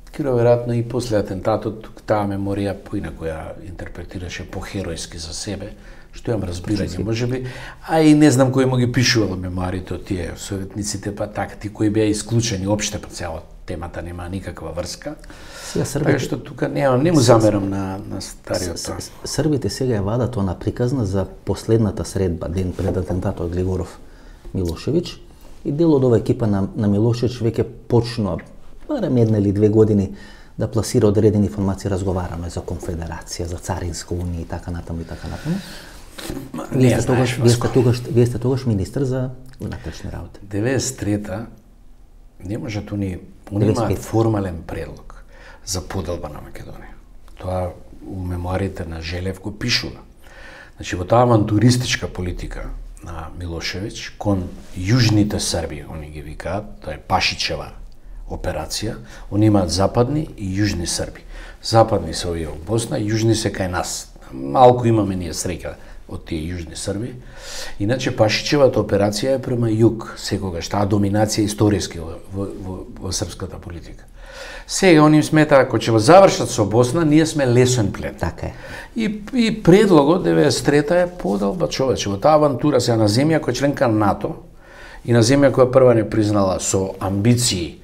Киро веројатно и после атентатот, таа меморија поинаку ја интерпретираше по-херојски за себе, што имам разбирање, можеби, а и не знам кој му ги пишувал мемоарите од тие советниците, па така, ти кои беа исклучени опште по цела темата, нема никаква врска. Така што тука не му замерам на стариот тоа. Србите сега ја вадат она приказна за последната средба, ден пред атентатот Глигоров Милошевиќ, и дел од ова екипа на Милошевиќ веќе почнува, барем една или 2 години, да пласира одредени информации, разговарано за конфедерација, за царинска унија и така натаму и така натаму. Вие сте тогаш министр за внатрешни работи. 93-та не можат они имаат формален предлог за поделба на Македонија. Тоа у мемоарите на Желев го пишува. Значи во таа авантуристичка политика на Милошевиќ кон јужните Срби, они ги викаат, тоа е Пашичева операција, они имаат западни и јужни Срби. Западни се овие во Босна, јужни се кај нас. Малку имаме ние среќа од тие јужни Срби. Иначе Пашичевата операција е према југ, секогаш таа доминација историски во српската политика. Сега они сметаа ако ќе завршат со Босна, ние сме лесен плен. Така е. И предлогот 93-та е подолба човече. Во таа авантура сега на земја која е членка на НАТО и на земја која прва не признала со амбиции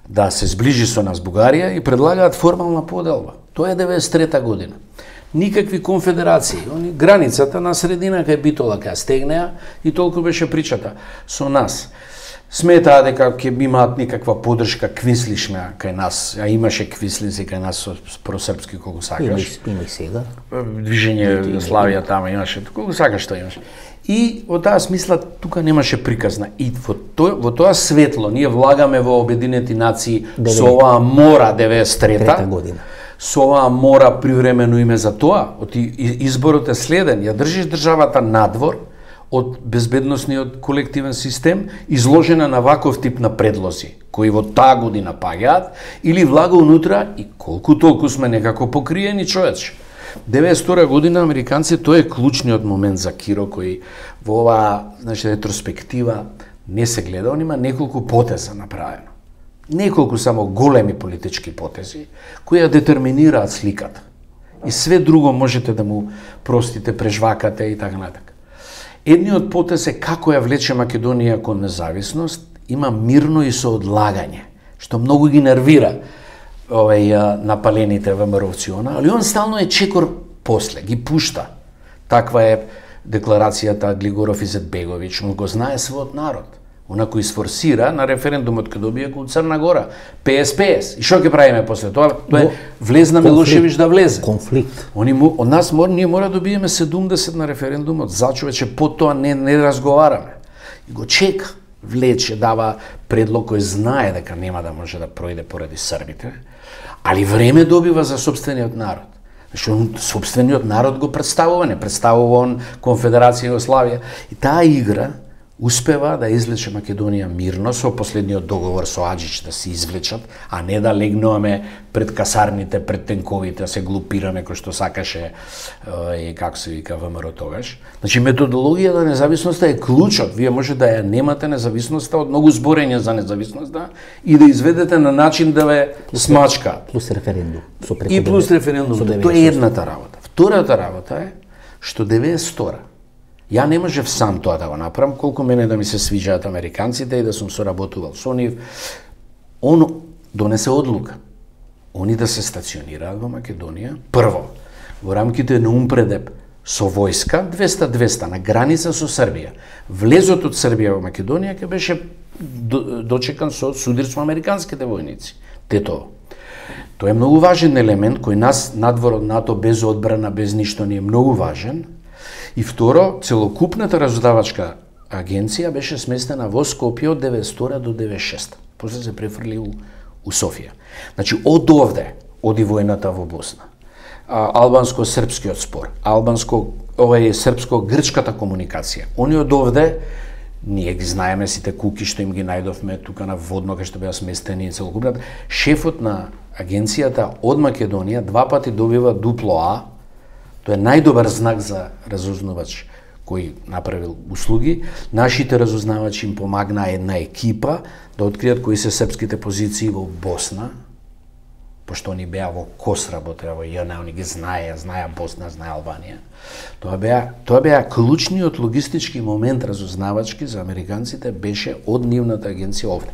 да се сближи со нас Бугарија и предлагаат формална поделба. Тоа е 93-та година. Никакви конфедерации, они границата на средина кај Битола кај стегнеа и толку беше причата со нас. Сметаа дека ќе имаат некаква поддршка квислишме кај нас, а имаше квислинци кај нас со просрпски колку сакаш. Има и сега. Движење Славија тама имаше, колку сакаш тоа имаше. И во таа смисла тука немаше приказна. И во тоа светло ние влагаме во Обединети нации со оваа мора 93-та година. Со оваа мора привремено име за тоа, изборот е следен, ја држиш државата надвор од безбедносниот колективен систем, изложена на ваков тип на предлози, кои во таа година паѓаат, или влага унутра и колку толку сме некако покриени човече. 92 година американци, тоа е клучниот момент за Киро, кој во оваа, ретроспектива не се гледа, он има неколку потеза направено. Неколку само големи политички потези, кои ја детерминираат сликата. И све друго можете да му простите, прежвакате и така натака. Едниот потез е како ја влече Македонија кон независност, има мирно и со одлагање, што многу ги нервира напалените ВМРО-вци, али он стално е чекор после, ги пушта. Таква е декларацијата Глигоров Изетбеговиќ, му го знае својот народ. Она кој сфорсира на референдумот кај добија кон Црна Гора, ПС. И што ќе правиме после тоа? Тоа е влезна Милошевиќ да влезе. Конфликт. Од нас ние мора да добиеме 70 на референдумот, за човече по тоа не разговараме. И го чека, влече, дава предлог кој знае дека нема да може да пројде поради србите, али време добива за сопствениот народ. Зашто сопствениот народ го представува, не представува он Конфедерација Југославија. И таа игра успева да извлече Македонија мирно со последниот договор со Аџич да се извлечат, а не да легнуваме пред касарните, пред тенковите, да се глупираме кој што сакаше и како се вика ВМРО тогаш. Значи методологијата на независноста е клучот. Вие може да ја немате независноста од многу зборење за независноста и да изведете на начин да ве смачка. Плюс референдум. И плюс референдум. Тоа е едната работа. Втората работа е што 92 ја не можев сам тоа да го направам, колку мене да ми се свиѓаат американците и да сум соработувал со нив. Он донесе одлука. Они да се стационираат во Македонија, прво, во рамките на Умпредеп со војска 200-200 на граница со Србија. Влезот од Србија во Македонија ќе беше дочекан со судирство американските војници. Тетово. Тоа е многу важен елемент кој нас надвор од НАТО без одбрана, без ништо не е многу важен. И второ, целокупната разузнавачка агенција беше сместена во Скопје од 92 до 96. После се префрли у Софија. Значи, од овде оди војната во Босна. Албанско-српскиот спор, српско-грчката комуникација. Они од овде, ние ги знаеме сите куки што им ги најдовме тука на водно кај што беа сместени и целокупната. Шефот на агенцијата од Македонија 2 пати добива дупло А. Тоа е најдобар знак за разузнавач кој направил услуги. Нашите разузнавачи им помагна една екипа да откријат кои се српските позиции во Босна, пошто они беа во КОС работеа во ЈН, они ги знаеа Босна, знаеа Албанија. Тоа беа клучниот логистички момент разузнавачки за американците беше од нивната агенција овде.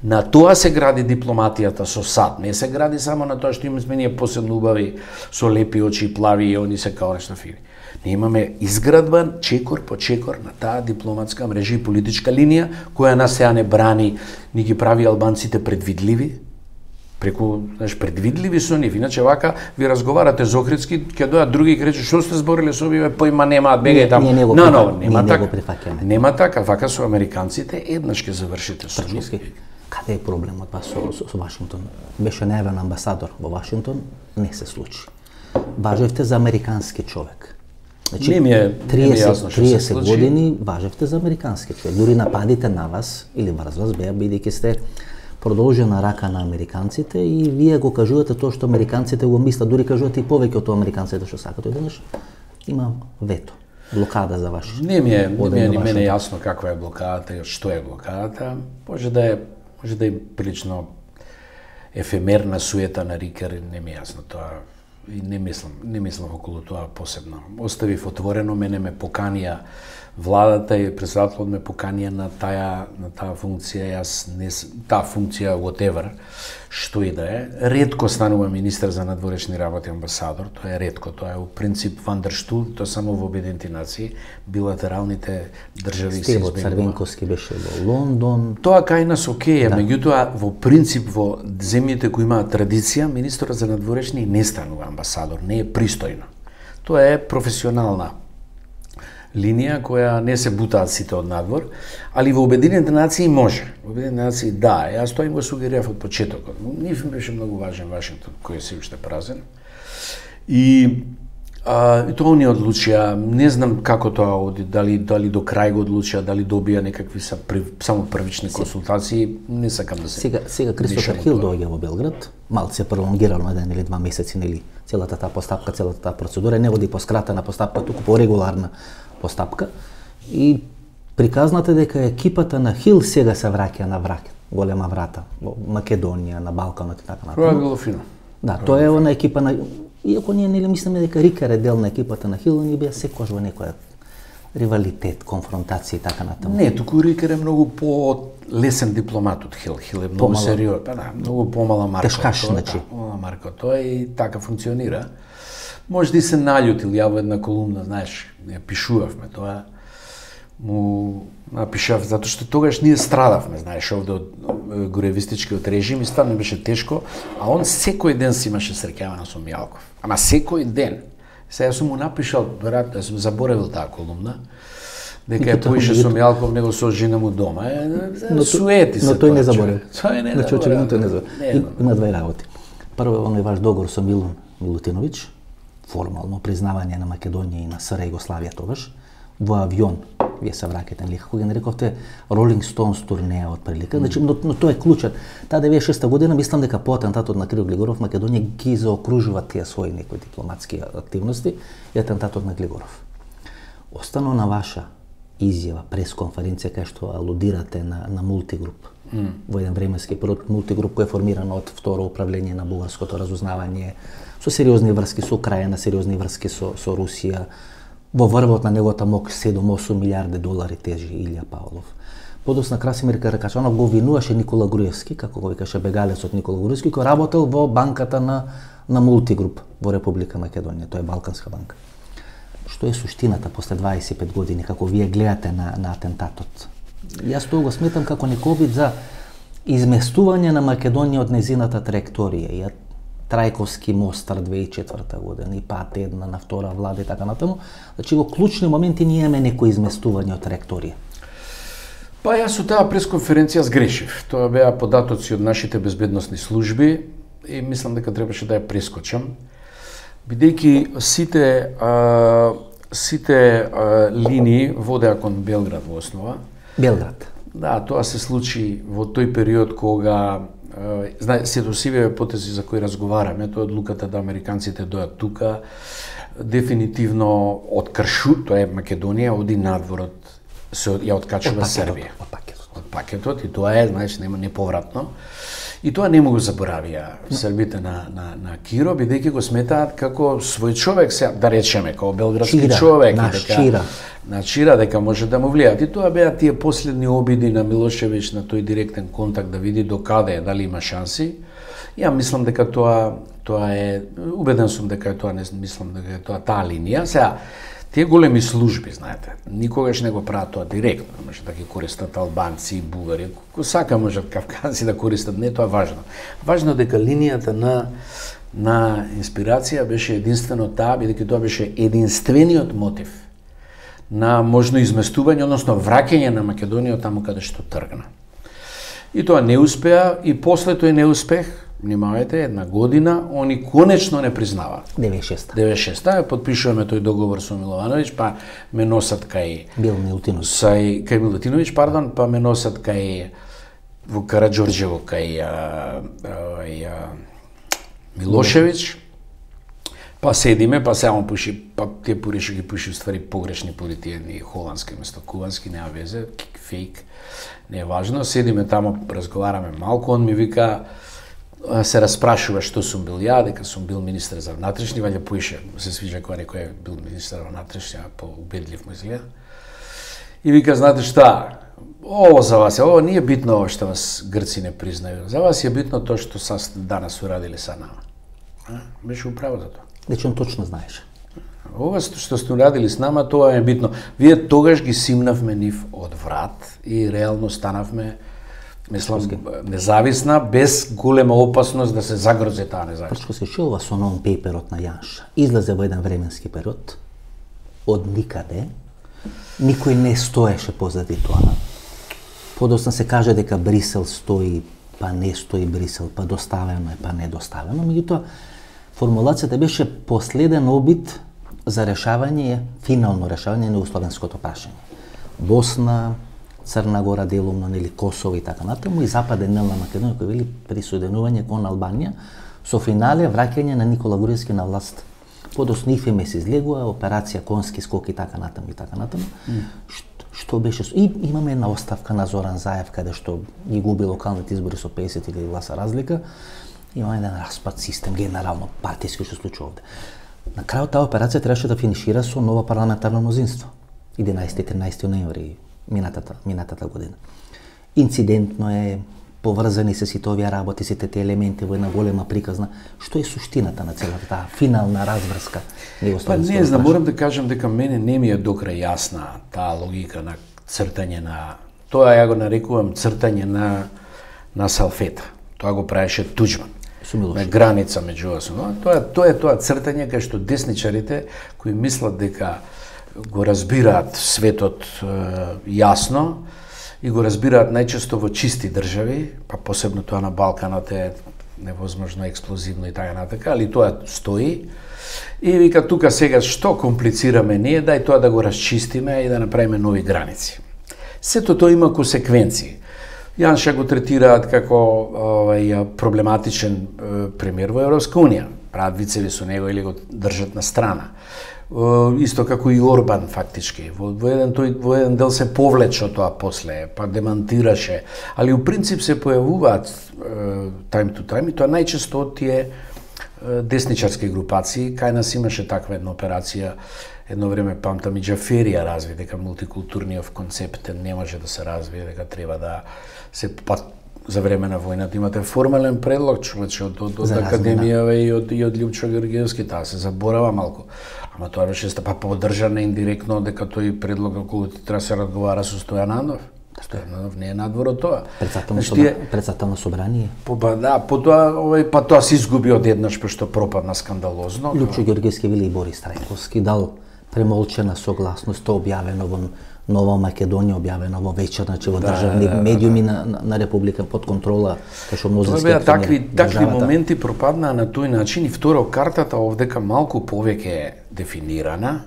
На тоа се гради дипломатијата со САД, не се гради само на тоа што имаме ние посебно убави со лепи очи, плави и они се као нешто фини. Ние имаме изградбан чекор по чекор на таа дипломатска мрежа и политичка линија која нас сега не брани, ни ги прави албанците предвидливи, преку, предвидливи со нив. Иначе вака ви разговарате за Охридски, ќе дојат други и рече што сте збориле со овие, појма немаат, бегај таму. Нема така, вака со американците еднаш ќе завршите со нив. Каде е проблемот со Вашингтон? Беше најавен амбасадор во Вашингтон, не се случи. Важевте за американски човек. Значи, не ми е јасно што се 30 години важевте за американски човек. Дури нападите на вас или врз вас беа бидејќи сте продолжена рака на американците и вие го кажувате тоа што американците го мислат, дури кажувате и повеќе од тоа американците што сакат. Одеднаш има вето, блокада за ваш. Не ми е ни мене јасно каква е блокадата и што е блокадата. Може да е прилично ефемерна суета на Рикер, не ми е јасно тоа. И не мислам околу тоа посебно. Оставив отворено, мене ме поканија владата и председателот ме поканија на таа функција, таа функција whatever, што и да е. Ретко станува министер за надворешни работи, амбасадор, тоа е ретко, тоа е у принцип вандерштул, тоа само во Обединените нации, билатералните држави се избегнува. Стевот Црвенковски беше во Лондон. Тоа кај нас окей, меѓутоа во принцип во земјите кои имаат традиција, министерот за надворешни не станува амбасадор, не е пристојно. Тоа е професионална линија која не се бутаат сите од надвор, али во Обединените нации може. Во Обединените нации да, јас тоа им го сугерирав од почетокот. Нив беше многу важен Вашингтон, кој е се уште празен. И тоа они одлучија, не знам како тоа оди, дали до крај го одлучија, дали добија некакви само првични консултации, не сакам да се. Сега Кристофер Хил доаѓа во Белград, малце пролонгирано 1 или 2 месеци, нели, целата таа постапка, целата таа процедура, не води по скратена постапка, туку по регуларна постапка, и приказната дека екипата на Хил сега се враќа на голема врата во Македонија, на Балканот и така натаму. Тоа е било фино. Да, тоа е она екипа на, иако ние нели мислиме дека Рикер е дел на екипата на Хил, ни беа секогаш во некоја ривалитет, конфронтација и така натаму. Не, туку Рикер е многу по-лесен дипломат од Хил. Хил е многу сериозен, многу помала марка. Тешкаш, значи. Помала марка, тоа и така функционира. Може да и се наљутил, ја во една колумна, знаеш, ја пишувавме тоа, му напишав, затоа што тогаш ние страдавме, знаеш, овде од горевистичкиот режим и стварно беше тешко, а он секој ден си имаше среќавано со Мијалков. Ама секој ден. Сега сум му напишал, веројатно сум заборавил таа колумна, дека ја поише со Мијалков него со жена му дома. Суети се. Но тој не заборав. Тој не заборав. Очигледно тој не заборав. Има две работи. Прво, оној ваш договор со Милун Милутиновиќ, формално признавање на Македонија и на СР Југославија тогаш, во авион, вие се враќате, нели, како ги нарековте, Rolling Stones турнеја од прилика, значи, но тоа е клучот. Таа 96 година, мислам дека по атентатот на Киро Глигоров, Македонија ги заокружува тие своји некои дипломатски активности и атентатот на Глигоров. Остано на ваша изјава, пресконференција, кај што алудирате на мултигруп. Во еден временски период, мултигруп кој е формиран од второ управление на бугарското разузнавање, со сериозни врски со Украина, сериозни врски со Русија. Во врвот на неговата МОК 7-8 милиарди долари тежи Илја Павлов. Подосна Красимир Каракачанов го винуваше Никола Груевски, како го викаше бегалецот Никола Груевски, кој работел во банката на Мултигруп во Република Македонија, тоа е Балканска банка. Што е суштината после 25 години, како вие гледате на атентатот? Јас тоа го сметам како некој обид за изместување на Македонија од незината траекторија. Трајковски мостар 2004 година и пат една на втора влада и така натаму, значи во клучни моменти ние имаме некој изместување од траекторија. Па јас со таа пресконференција сгрешив. Тоа беа податоци од нашите безбедносни служби и мислам дека требаше да ја прескочам, бидејќи сите линии водеа кон Белград во основа. Белград. Да, тоа се случи во тој период кога се досивија потези за кои разговараме, тоа одлуката да американците дојат тука, дефинитивно од Кршу, тоа е Македонија, оди надворот, се ја откачува Србија. Од пакетот и тоа е, знаеш, нема неповратно. И тоа не му го заборавија србите на Киро, бидејќи го сметаат како свој човек, да речеме, како белградски човек, на Чира, дека може да му влијат. И тоа беа тие последни обиди на Милошевиќ на тој директен контакт да види докаде е, дали има шанси. Ја мислам дека тоа е, убеден сум дека е тоа, не мислам дека е тоа таа линија. Сега, тие големи служби, знаете, никогаш не го прават тоа директно, може да ги користат албанци и бугари, ако сака можат кавказци да користат, не тоа важно. Важно е дека линијата на инспирација беше единствено таа, бидејќи тоа беше единствениот мотив на можно изместување, односно враќање на Македонија таму каде што тргна. И тоа не успеа, и после тој неуспех, внимавајте, една година, они конечно не признаваат. 96-та, подпишуваме тој договор со Миловановиќ, па ме носат кај Милутиновиќ, па ме носат кај во Караџорџево кај Милошевиќ, па седиме, па се он пуши, па тие пуриши ги пуши ствари погрешни пури, тие едни холандски место кубански, нема везе, фейк, не е важно, седиме тамо, разговараме малку, он ми вика, се распрашува што сум бил ја, дека сум бил министер за внатрешни, ваља поише, се свиѓа кога некој е бил министер за внатрешни, по-убедлив му изгледа. И вика, знаете шта, ово за вас, ово не е битно ово што вас грци не признају, за вас е битно тоа што данас урадили са нама. Беше управо за тоа. Значи он точно знаеше. Ова што сте урадили с нама, тоа е битно. Вие тогаш ги симнавме нив од врат и реално станавме, мислам, независна, без голема опасност да се загрози таа независност. Прчко се ова со нон-пейперот на Јанша. Излезе во еден временски период, од никаде, никој не стоеше позади тоа. Подоцна се каже дека Брисел стои, па не стои Брисел, па доставено е, па не доставено. Меѓутоа, формулацијата беше последен обид за решавање, финално решавање на условенското прашање. Босна, Црна Гора делумно, нели Косово и така натаму, и Западен дел на Македонија кој вели присоединување кон Албанија, со финале враќање на Никола Груевски на власт. Подоцна ИФМ се излегува, операција Конски скок и така натаму и така натаму. Што беше и имаме една оставка на Зоран Заев каде што ги губи локалните избори со 50 гласа разлика. Имаме еден распад систем, генерално партиски што случува овде. На крајот таа операција требаше да финишира со ново парламентарно мнозинство. 11-13 ноември минатата година. Инцидентно е, поврзани се сите овие работи, сите тие елементи во една голема приказна. Што е суштината на целата таа финална разврска? Па не знам, морам да кажам дека мене не ми е докрај јасна таа логика на цртање на, тоа ја го нарекувам цртање на салфета. Тоа го правеше Туџман. На граница меѓу вас. Тоа е тоа цртање кај што десничарите кои мислат дека го разбираат светот јасно и го разбираат најчесто во чисти држави, па посебно тоа на Балканот е невозможно експлозивно и така натака, али тоа стои. И вика тука сега што комплицираме ние, дај тоа да го расчистиме и да направиме нови граници. Сето тоа има консеквенции. Јанша го третираат како проблематичен премиер во Европска унија. Прават вицеви со него или го држат на страна. Исто како и Орбан фактички. Во еден дел се повлече тоа после, па демантираше, али у принцип се појавуваат time to time и тоа најчесто од тие десничарски групации. Кај нас имаше таква една операција, едно време памтам и Џаферија разви дека мултикултурниот концепт не може да се развие, дека треба да се за време на војната имате формален предлог, човече, од Академија и од Љупчо Георгиевски, таа се заборава малку. Ама тоа беше поддржано индиректно дека тој предлог околу треба се разговара со Стојанов. Стојанов не е надвор од тоа. Председател собрание. Па тоа се изгуби одеднаш пошто пропадна скандалозно. Љупчо Георгиевски вели и Борис Трајковски дал премолчена согласност, тоа објавено во Нова Македонија, објавено во вечер, значи во државни медиуми на Република под контрола, кај што мнозински такви моменти пропаднаа на тој начин и второ картата овдека малку повеќе е дефинирана.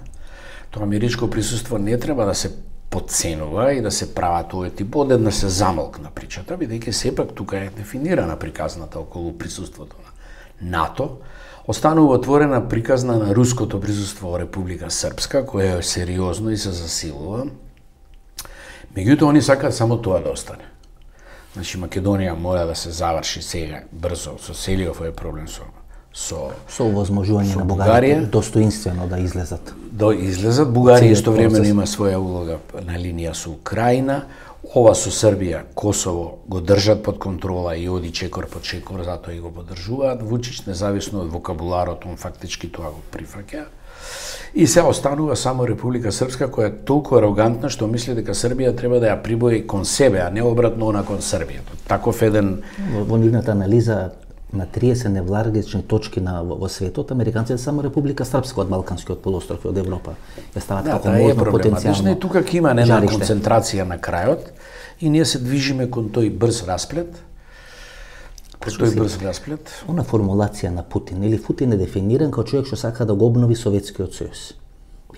Тоа америчко присуство не треба да се подценува и да се прават овој тип, одеднаш се замолкна причата, бидејќи сепак тука е дефинирана приказната околу присуството на НАТО. Останува отворена приказна на руското присуство во Република Српска, која е сериозно и се засилува. Меѓутоа, они сакаат само тоа да остане. Значи, Македонија мора да се заврши сега, брзо, со целиот овој проблем со овозможување на Бугарија достоинствено да излезат. Да излезат. Бугарија истовремено има своја улога на линија со Украина. Ова со Србија, Косово го држат под контрола и оди чекор по чекор, затоа и го поддржуваат. Вучич, независно од вокабуларот, он фактички тоа го прифаќа. И се останува само Република Српска, која е толку арогантна што мисли дека Србија треба да ја прибои кон себе, а не обратно она кон Србија. Таков еден... Во нивната анализа на 30 невлагични точки во светот, американците само Република Српска од Балканскиот полуостров и од Европа ја стават како можно потенцијално. И тука ќе има една концентрација на крајот и ние се движиме кон тој брз расплет. Она формулација на Путин, или Путин е дефиниран како човек што сака да го обнови Советскиот сојуз.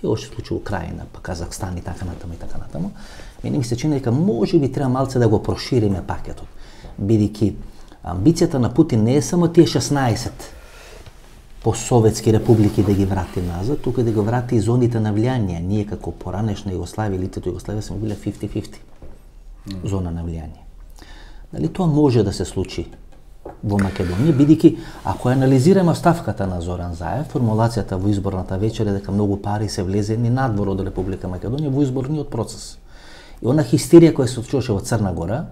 И ова што случи Украина, па Казахстан и така натаму и така натаму. Мене ми се чини дека можеби треба малце да го прошириме пакетот. бидејќи амбицијата на Путин не е само тие 16 по-советски републики да ги врати назад, туку да го врати и зоните на влијание. Ние како поранешна Југославија, елитето Југославија сме биле 50-50 зона на влијание. Дали тоа може да се случи во Македонија, бидејќи ако анализираме ставката на Зоран Заев, формулацијата во изборната вечер е дека многу пари се влезени надвор од Република Македонија во изборниот процес. И она хистерија која се случуваше во Црна Гора,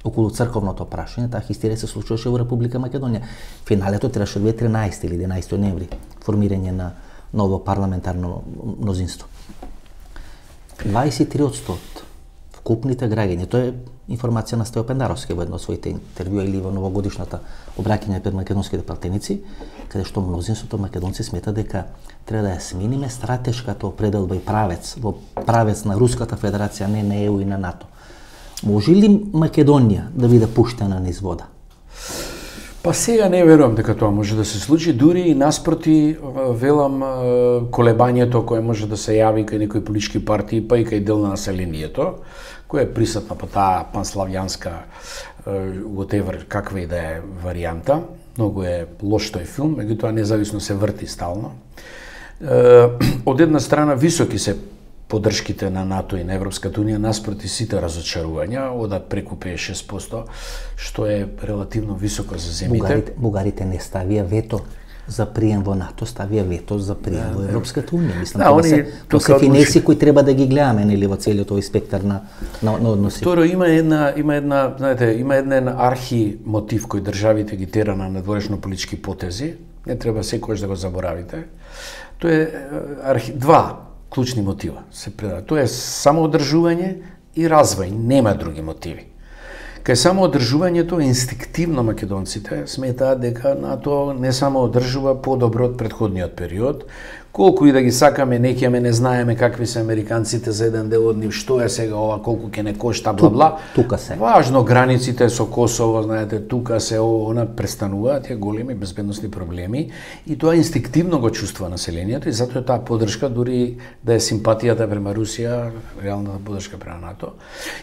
околу црковното прашање, таа хистерија се случуваше во Република Македонија. Финалето требаше да биде 13 или 11 ноември, формирање на ново парламентарно мнозинство. 23% вкупните граѓани, тоа е информација на Стео Пендаровски во едно од своите интервјуа или во новогодишната обраќање пред македонските пратеници, каде што мнозинството македонци смета дека треба да ја смениме стратешката определба и правец, во правец на Руската Федерација, не на ЕУ и на НАТО. Може ли Македонија да биде пуштена низ вода? Па сега не верувам дека тоа може да се случи, дури и наспроти велам колебањето кое може да се јави кај некои политички партии, па и кај дел на населението, која е присутна по таа панславјанска whatever, каква и да е варијанта. Многу е лош тој филм, меѓутоа независно се врти стално. Од една страна високи се поддршките на НАТО и на Европската Унија наспроти сите разочарувања, одат преку 56%, што е релативно високо за земјите. Бугарите не ставија вето за прием во НАТО, ставија вето за прием во Европската Унија. Мислам, тоа се финеси кои треба да ги гледаме, нели, во целиот овој спектар на односи. Второ, има еден архи мотив кој државите ги тера на надворешно политички потези, не треба секогаш да го заборавите. Тоа е два клучни мотива се предава. Тоа е самоодржување и развој, нема други мотиви. Кај самоодржувањето инстинктивно македонците сметаат дека НАТО не само одржува подобро од претходниот период, колку и да ги сакаме, некјаме не знаеме какви се американците за еден дел од нив, што е сега ова, колку ќе не кошта, бла-бла. Тука се. Важно, границите со Косово, знаете, тука се она престануваат тие големи безбедносни проблеми и тоа инстинктивно го чувствува населението и затоа таа поддршка, дури да е симпатијата према Русија, реалната поддршка према НАТО,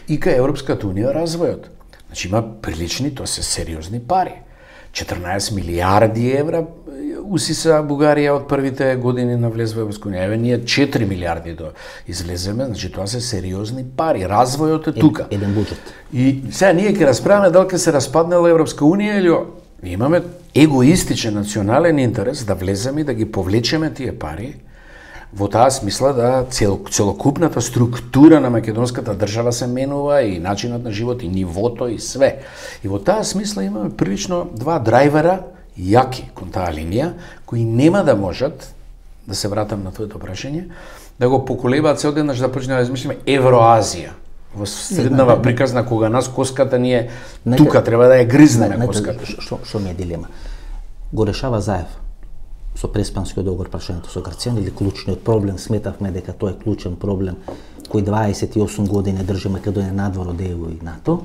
и кај Европската Унија развојот. Значи има прилични, тоа се сериозни пари. 14 милиарди евра усиса Бугарија од првите години на влез во Европска Унија. Еве ние 4 милиарди да излеземе, значи тоа се сериозни пари. Развојот е тука. Еден буџет. И сега ние ќе расправаме дали ќе се распаднела Европска Унија или имаме егоистичен национален интерес да влеземе и да ги повлечеме тие пари во таа смисла да целокупната структура на македонската држава се менува и начинот на живот и нивото и све. И во таа смисла имаме прилично два драйвера јаки кон таа линија, кои нема да можат, да се вратам на твоето прашање, да го поколебаат се одеднаш да почнеме да измислиме Евроазија. Во среднава приказна кога нас коската ние тука треба да ја гризнеме коската. Што ми е дилема? Го решава Заев со преспанскиот договор прашањето со Грција, или клучниот проблем, сметавме дека тоа е клучен проблем кој 28 години држи Македонија надвор од ЕУ и НАТО,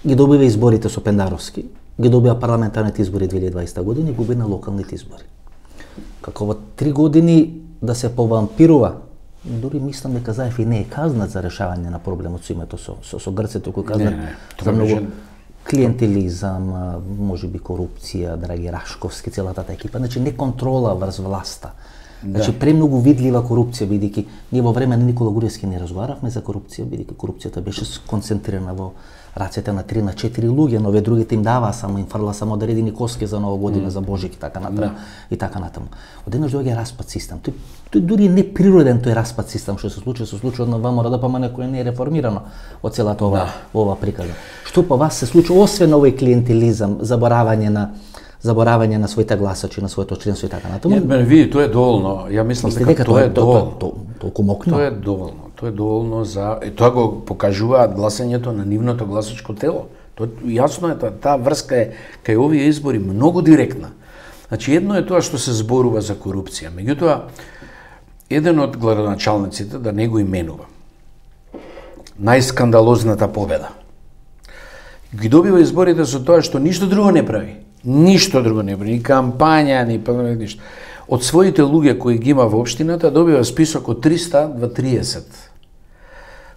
ги добива изборите со Пендаровски, ги добива парламентарните избори 2020 година и губи на локалните избори. Како во 3 години да се повампирува, дури мислам дека Заев и не е казнат за решавање на проблемот со името со Грците, кој казнат за многу клиентелизам, можеби корупција, Драги Рашковски, целата таа екипа, значи не контрола врз власта. Значи премногу видлива корупција, бидејќи ние во време на Никола Груевски не разговаравме за корупција, бидејќи корупцијата беше сконцентрирана во рацете на 3 на 4 луѓе, но овие другите им даваа само, им фрла само да редини коски за Нова година, за Божик и така натаму. И така натаму. Одеднаш доаѓа распад систем. Тој дури не природен тој распад систем што се случи од ВМРО-ДПМН кој не е реформирано од целата ова приказна. Што по вас се случи освен овој клиентелизам, заборавање на своите гласачи, на своето членство и така натаму? Не, мене види, тоа е доволно. Ја мислам дека тоа е доволно. Толку мокно. Тоа е доволно. Тоа е доволно за тоа го покажуваат гласањето на нивното гласачко тело. Тоа јасно е таа врска е кај овие избори многу директна. Значи едно е тоа што се зборува за корупција, меѓутоа еден од градоначалниците, да не го именува, најскандалозната победа, ги добива изборите со тоа што ништо друго не прави. Ништо друго не прави, ни кампања, ни ништо. Од своите луѓе кои ги има во општината добива список од 330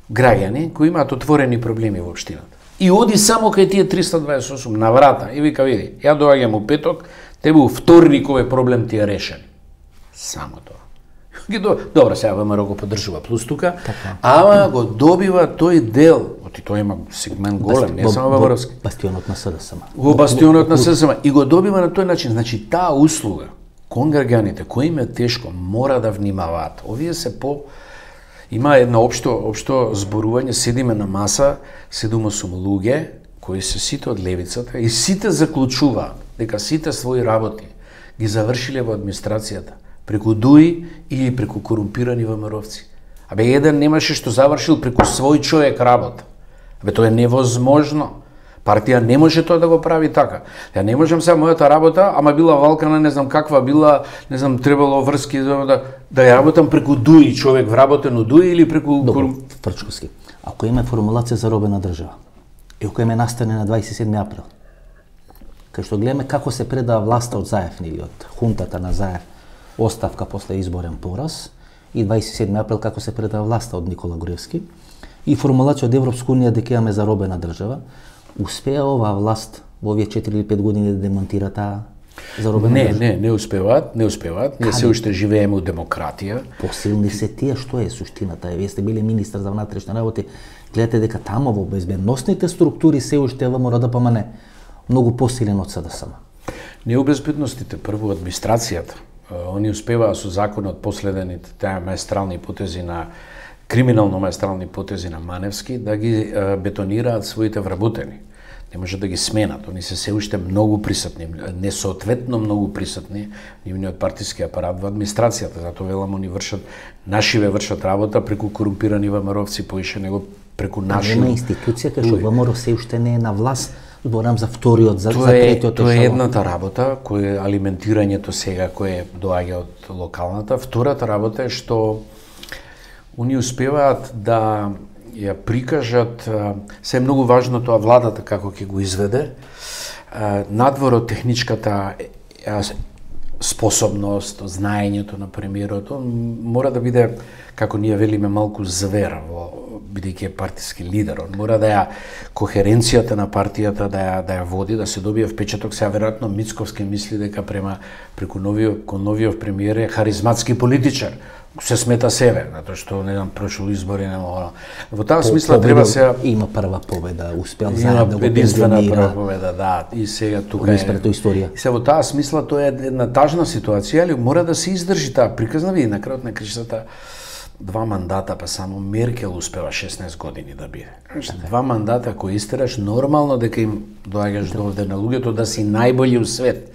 граѓани кои имаат отворени проблеми во општината. И оди само кај тие 328 на врата и вика види, ја доаѓам у петок, тебе у вторник овој проблем ти е решен. Само тоа. Добро, сега ВМРО го поддржува плюс тука, ама го добива тој дел, оти тој има сегмент голем, не само ВМРО-ски. Бастионот на СДСМ. Во бастионот на СДСМ и го добива на тој начин, значи таа услуга кон граѓаните кои им е тешко мора да внимаваат. Овие се има едно општо зборување, седиме на маса, 7-8 луѓе кои се сите од левицата и сите заклучуваат дека сите своји работи ги завршиле во администрацијата преку ДУИ или преку корумпирани ВМРО-вци. Абе, еден немаше што завршил преку свој човек работа. Абе, тоа е невозможно. Партија не може тоа да го прави така. Ја не можам сега мојата работа, ама била валкана, не знам каква била, не знам, требало врски да ја работам преку ДУИ, човек вработен у ДУИ или преку... Добро, Фрчковски. Ако има формулација за робена држава, и ако име настане на 27 април, кај што гледаме како се предава власта од Заев или од хунтата на Заев, оставка после изборен пораз, и 27 април како се предава власта од Никола Груевски, и формулација од Европска унија дека имаме за робена држава, успеа оваа власт во овие 4 или 5 години да демонтира таа заробена држава? Не успеваат. Ние се уште живееме у демократија. Посилни се тие, што е суштината? Вие сте били министар за внатрешни работи, гледате дека таму во безбедносните структури се уште ВМРО ДПМН многу посилен од СДСМ. Не у безбедностите, прво администрацијата. Они успеваа со законот последените таа маестрални потези на криминално маестрални потези на Маневски да ги бетонираат своите вработени. Не може да ги сменат, они се уште многу присутни, несоодветно многу присутни нивниот партиски апарат во администрацијата, затоа велам они нашиве вршат работа преку корумпирани ВМРО-вци поише него преку наши. Нема институција кај што ВМРО се уште не е на власт. Зборам за вториот, за третиот. Тоа е едната работа, кој е алиментирањето сега кое доаѓа од локалната. Втората работа е што они успеваат да ја прикажат, се е многу важно тоа владата како ќе го изведе, надвор од техничката способност, знаењето на премиерот, мора да биде, како ние велиме, малку звер, бидејќи е партиски лидер. Он мора да ја кохеренцијата на партијата да ја води, да се добие впечаток. Сега веројатно Мицковски мисли дека преку новиот премиер е харизматски политичар. Се смета себе, затоа што не знам прошол избори нема. Во таа смисла треба се има прва победа, успеал заедно да го единствена прва победа, да, и сега тука е историја. И сега во таа смисла тоа е една тажна ситуација, али мора да се издржи таа приказна, види на крајот на кришата 2 мандата, па само Меркел успева 16 години да биде. 2 мандата кои истераш, нормално дека им доаѓаш довде на луѓето да си најбољи у свет.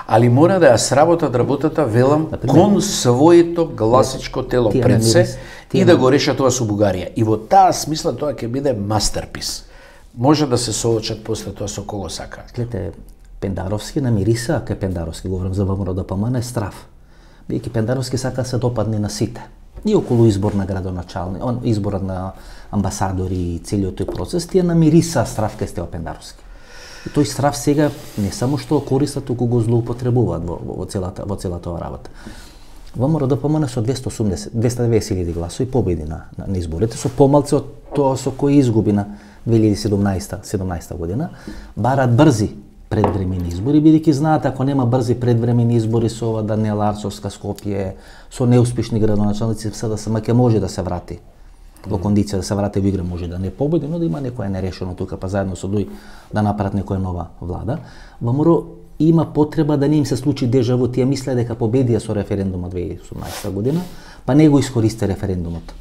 Али мора да ја сработат работата, велам, кон своето гласачко тело пред се и да го решат тоа со Бугарија. И во таа смисла тоа ќе биде мастерпис. Може да се соочат после тоа со кого сакаат. Гледате, Пендаровски намириса, кај Пендаровски говорам за ВМРО ДПМН, е страв. Бидејќи Пендаровски сака се допадне на сите. И околу избор на градоначални, изборот на амбасадори и целиот тој процес, тие намириса страв кај Стево Пендаровски. И тој страв сега не само што користат, туку го злоупотребуваат во целата оваа работа. ВМРО ДПМН со 290.000 гласови победи на изборите, со помалце од тоа со кој изгуби на 2017 година, барат брзи предвремени избори, бидејќи знаат ако нема брзи предвремени избори со ова Даниела Арцовска, Скопје, со неуспешни градоначалници, СДСМ ќе може да се врати во кондиција да се врати во игра, може да не победи, но да има некое нерешено тука, па заедно со ДУИ да направат некоја нова влада. ВМРО има потреба да не им се случи дежаву, тие мислеа дека победија со референдумот 2018 година, па не го искористи референдумот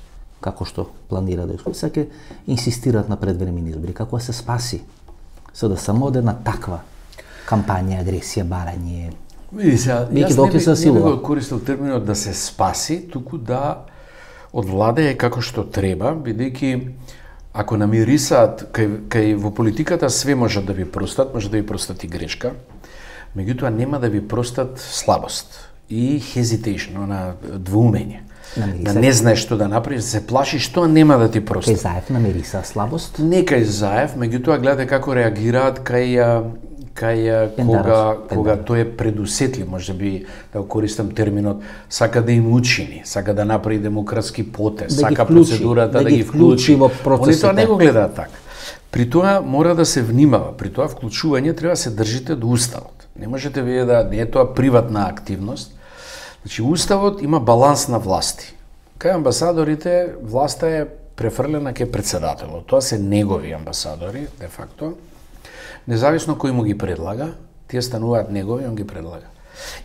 како што планира да искористи, ќе инсистираат на предвремени избори, како да се спаси СДСМ од една таква кампања, агресија, барање. Види сега, јас не го користил терминот да се спаси, туку да од влада е како што треба, бидејќи ако намирисаат, кај во политиката све можат да ви простат, може да ви простат и грешка, меѓутоа нема да ви простат слабост и hesitation, на двоумење. Да не знаеш што да направиш, се плашиш што нема да ти простат. Кај Заев намириса слабост? Не кај Заев, меѓутоа гледате како реагираат кај кога тој е предусетлив, може би да го користам терминот, сака да им учини, сака да направи демократски потез, сака процедурата да ги вклучи во процесите. Они тоа не го гледаат така. При тоа мора да се внимава, при тоа вклучување треба да се држите до уставот. Не можете вие да не е тоа приватна активност. Значи уставот има баланс на власти. Кај амбасадорите власта е префрлена кај претседателот. Тоа се негови амбасадори, де факто. Независно кој му ги предлага, тие стануваат негови, он ги предлага.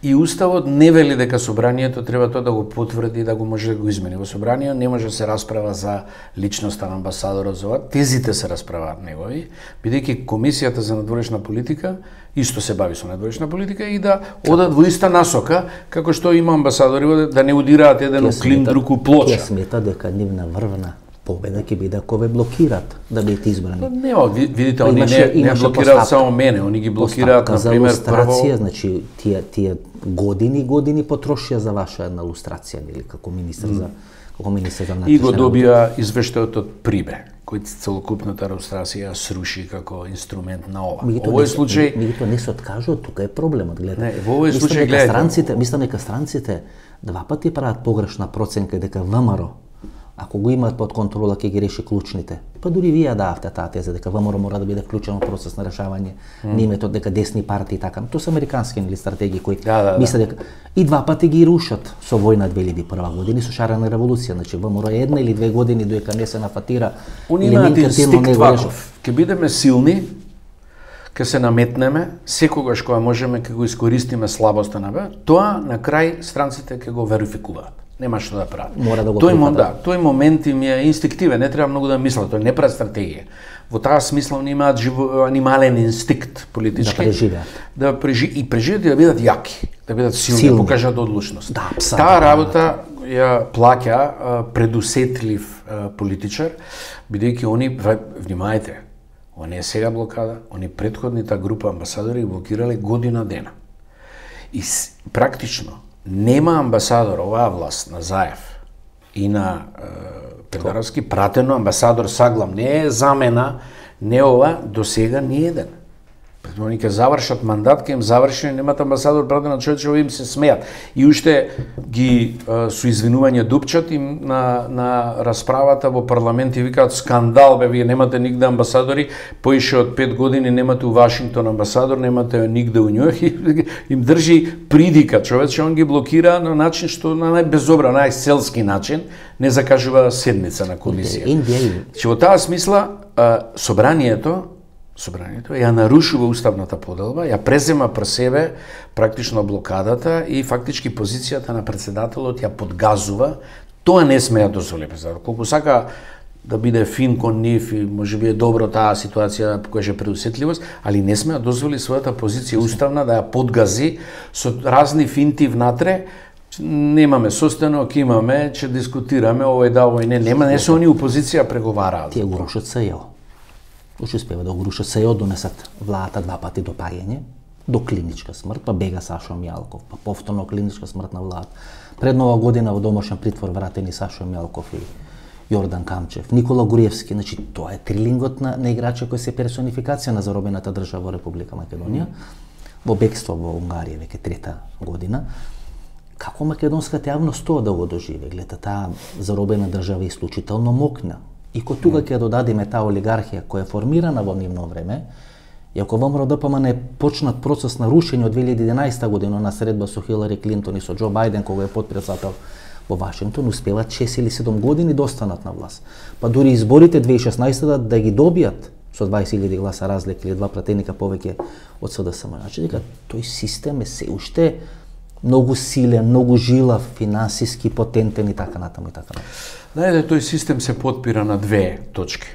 И уставот не вели дека собранието треба тоа да го потврди, да го може да го измени. Во собрание не може да се расправа за личноста на амбасадорот, за ова. Тезите се расправаат негови, бидејќи комисијата за надворешна политика исто се бави со надворешна политика и да одат во иста насока, како што има амбасадори да не удираат еден клин друг у плоча. Ќе смета дека нивна врвна победа ќе биде ако ве блокират да бидете избрани. Нема, видите, они не блокираат само мене, они ги блокираат на пример прво. Значи тие години потрошија за ваша една лустрација или како министер за внатрешни и го добија извештајот од Прибе, кој целокупната лустрација сруши како инструмент на ова. Во овој случај меѓутоа не се откажува, тука е проблемот, гледајте. Не, во овој случај гледајте. Мислам дека странците два пати прават погрешна проценка дека ВМРО ако го имаат под контрола ќе ги реши клучните. Па дури вие дававте таа теза дека ВМРО мора да биде вклучен во процес на решавање на името дека десни партии и така. Тоа се американски или стратегии кои мислат дека и два пати ги рушат со војна 2001 година со шарена револуција. Значи ВМРО една или две години додека не се нафатира или имаат инстинкт ваков. Ќе бидеме силни, ќе се наметнеме, секогаш кога можеме ќе го искористиме слабоста на бе, тоа на крај странците ќе го верификуваат. Нема што да прават. Мора да го тој момент им е инстинктивен, не треба многу да мислат, тој не прави стратегија. Во таа смисла они имаат анимален инстинкт политички. Да преживеат и да бидат јаки, да бидат силни, да покажат одлучност. Таа работа ја плаќа предусетлив политичар, бидејќи они, внимајте, ова не е сега блокада, они претходната група амбасадори блокирале година дена. И практично нема амбасадор оваа власт на Заев и на Педаровски пратено амбасадор Саглам, не е замена, не ова, до сега ни еден. Они ќе завршат мандат, ќе им заврши, немат амбасадор пратен на човече, им се смеат. И уште ги со извинување дупчат им на расправата во парламент и викаат скандал, бе, вие немате нигде амбасадори, поише од 5 години немате у Вашингтон амбасадор, немате нигде у Њујорк и им држи придика човече, он ги блокира на начин што на најбезобран, најселски начин, не закажува седница на комисија. Че во таа смисла собранието ја нарушува уставната поделба, ја презема про себе практично блокадата и фактички позицијата на претседателот ја подгазува. Тоа не сме ја дозволи претседател. Колку сака да биде фин кон нив и можеби е добро таа ситуација покаже предусетливост, али не сме ја дозволи својата позиција уставна да ја подгази со разни финти внатре. Немаме состанок, имаме, ќе дискутираме, овој да, овој не се они опозиција преговараат. Тие го рушат СЈО. Уште успева да го рушат СЈО, донесат владата два пати до паѓање, до клиничка смрт, па бега Сашо Мјалков, па повторно клиничка смрт на владата. Пред нова година во домашен притвор вратени Сашо Мјалков и Јордан Камчев, Никола Гуриевски, значи тоа е трилингот на играча кој се персонификација на заробената држава во Република Македонија, во бегство во Унгарија веќе трета година. Како македонската јавност тоа да го доживе? Гледа, таа заробена држава е исклучително мокна. И кога тука ќе додадеме таа олигархија која е формирана во нивно време, и ако ВМРО ДПМН почнат процес на рушење од 2011 година на средба со Хилари Клинтон и со Џо Бајден кога е потпредседател во Вашингтон, успеваат 6 или 7 години да останат на власт. Па дури изборите 2016 да ги добијат со 20.000 гласа разлика или два пратеника повеќе од СДСМ. Значи дека тој систем е се уште многу силен, многу жилав, финансиски потентен и така натаму и така натаму. Знаете, тој систем се потпира на две точки.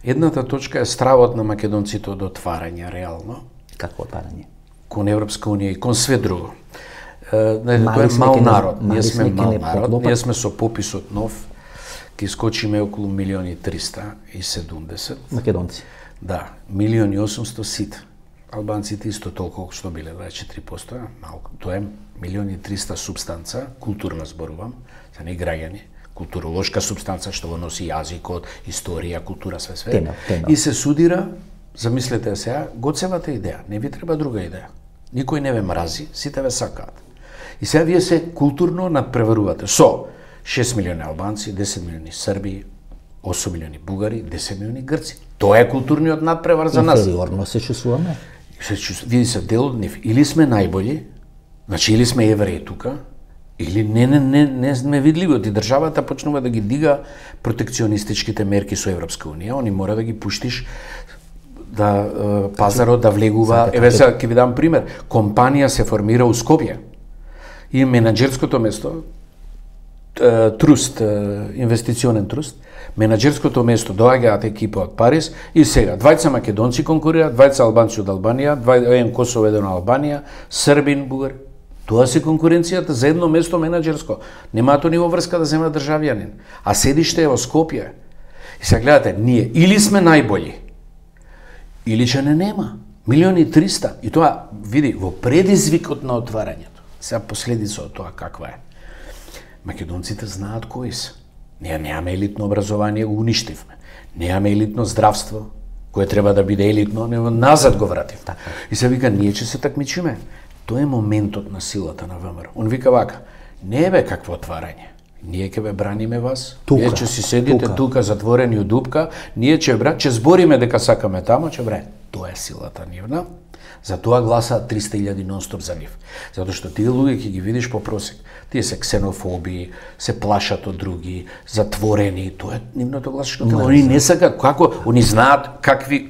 Едната точка е стравот на македонците од отварање, реално. Како отварање? Кон Европска Унија и кон све друго. Знаете, тоа е мал народ, ние сме мал народ, ние сме со пописот нов, ќе искочиме околу 1.370.000. Македонци. Да, 1.800.000 сите. Албанците исто толку што биле, 24%, малку. Тоа е 1.300.000 субстанца, културна зборувам, за не граѓани, културолошка субстанца што го носи јазикот, историја, култура, све. Тема. И се судира, замислете сега, Гоцевата идеја, не ви треба друга идеја. Никој не ве мрази, сите ве сакаат. И сега вие се културно надпреварувате со 6 милиони албанци, 10 милиони срби, 8 милиони бугари, 10 милиони грци. Тоа е културниот надпревар за нас. Инфериорно се чувствуваме. Види се дел од нив. Или сме најбољи, значи или сме евреи тука, или не сме видливи. И државата почнува да ги дига протекционистичките мерки со Европска унија. Они мора да ги пуштиш да пазарот да влегува. Еве сега ќе ви дам пример. Компанија се формира у Скопје. И менаџерското место, труст, инвестиционен труст, менаџерското место доаѓаат екипа од Париз и сега двајца македонци конкурираат, двајца албанци од Албанија, еден Косово, еден Албанија, Србин, Бугар. Тоа се конкуренцијата за едно место менаџерско. Немаат ни врска да земат државјанин, а седиште е во Скопје. И сега гледате, ние или сме најбољи, или че не нема. 1.300.000. И тоа, види, во предизвикот на отварањето. Сега последица од тоа каква е. Македонците знаат кои се. Ние немаме елитно образование, го уништивме. Немаме елитно здравство, кое треба да биде елитно, него назад го вратив. И се вика, ние ќе се такмичиме. Тоа е моментот на силата на ВМРО. Он вика вака, не бе какво отварање. Ние ќе ве браниме вас. Вие ќе си седите тука затворени од дупка, ние ќе збориме дека сакаме тамо, ќе браниме. Тоа е силата нивна. Затоа гласаат 300.000 нон-стоп за нив. Затоа што тие луѓе ќе ги видиш по просек. Тие се ксенофоби, се плашат од други, затворени, тоа е нивното гласачко тело. Они не сакаат како, они знаат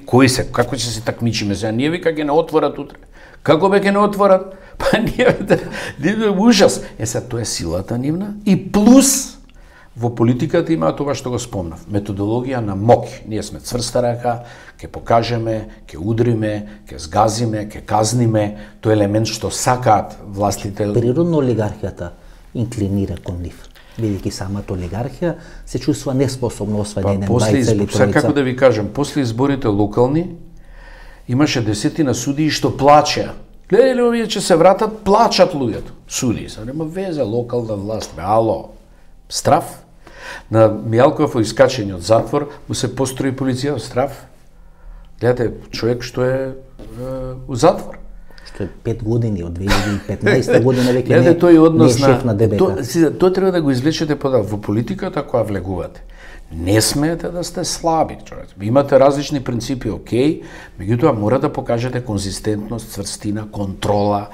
кои се, како ќе се такмичиме. Сега ние вика ќе не отворат утре. Како бе ќе не отворат? Па ние ужас. Сега тоа е силата нивна и плюс во политиката има тоа што го спомнав, методологија на моќ. Ние сме цврста рака, ќе покажеме, ќе удриме, ќе згазиме, ќе казниме, тоа е елемент што сакаат властите. Природно олигархијата инклинира кон нив. Бидејќи самата олигархија се чувствува неспособно освен еден бајца или тројца. Како да ви кажам, после изборите локални имаше десетина судии што плачеа. Гледајте овие ќе се вратат, плачат луѓето. Судии, са нема везе локална власт, ало. Страф. На Мијалков во искачење од затвор му се построи полиција страф. Гледате, човек што е у затвор. Што е 5 години, од 2015 година веќе не е шеф на ДБК. Тоа треба да го извлечете податок. Во политиката која влегувате, не смеете да сте слаби, човек. Имате различни принципи, окей, меѓутоа мора да покажете конзистентност, цврстина, контрола,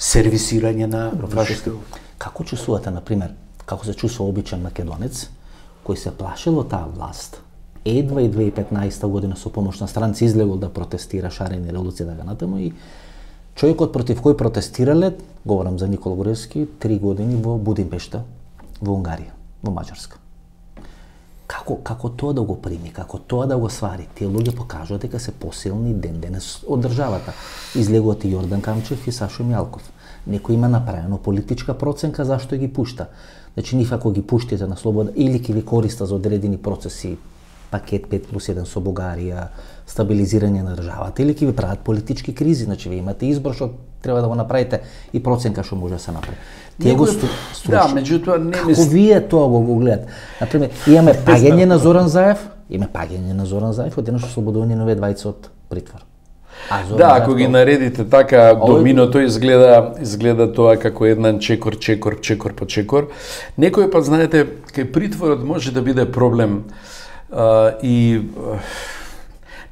сервисирање на вашите. Како чувствувате, например, како се чувствува обичен македонец, кој се плашил од таа власт, едва и 2015 година со помош на странци излегол да протестира шарени револуција да натаму и човекот против кој протестирале, говорам за Никола Груевски, 3 години во Будимпешта, во Унгарија, во Маđарска. Како тоа да го прими, како тоа да го свари? Тие луѓе покажуваат дека се посилни ден денес од државата. Излегуваат и Јордан Камчев и Сашо Мијалков. Некој има направено политичка проценка зашто ги пушта. Значи, нив ако ги пуштите на слобода, или ќе ви користа за одредени процеси, пакет 5+1 со Бугарија, стабилизирање на државата, или ќе ви прават политички кризи, значи ви имате избор што треба да го направите и проценка што може да се направи. Тие го струшат. Да, меѓутоа не како вие тоа го гледате? Например, имаме паѓање на Зоран Заев, одеднаш ослободување на овие двајца од притвор. Да, ако ги наредите така, доминото изгледа тоа како еднан чекор по чекор. Некој пат, знаете, кај притворот може да биде проблем и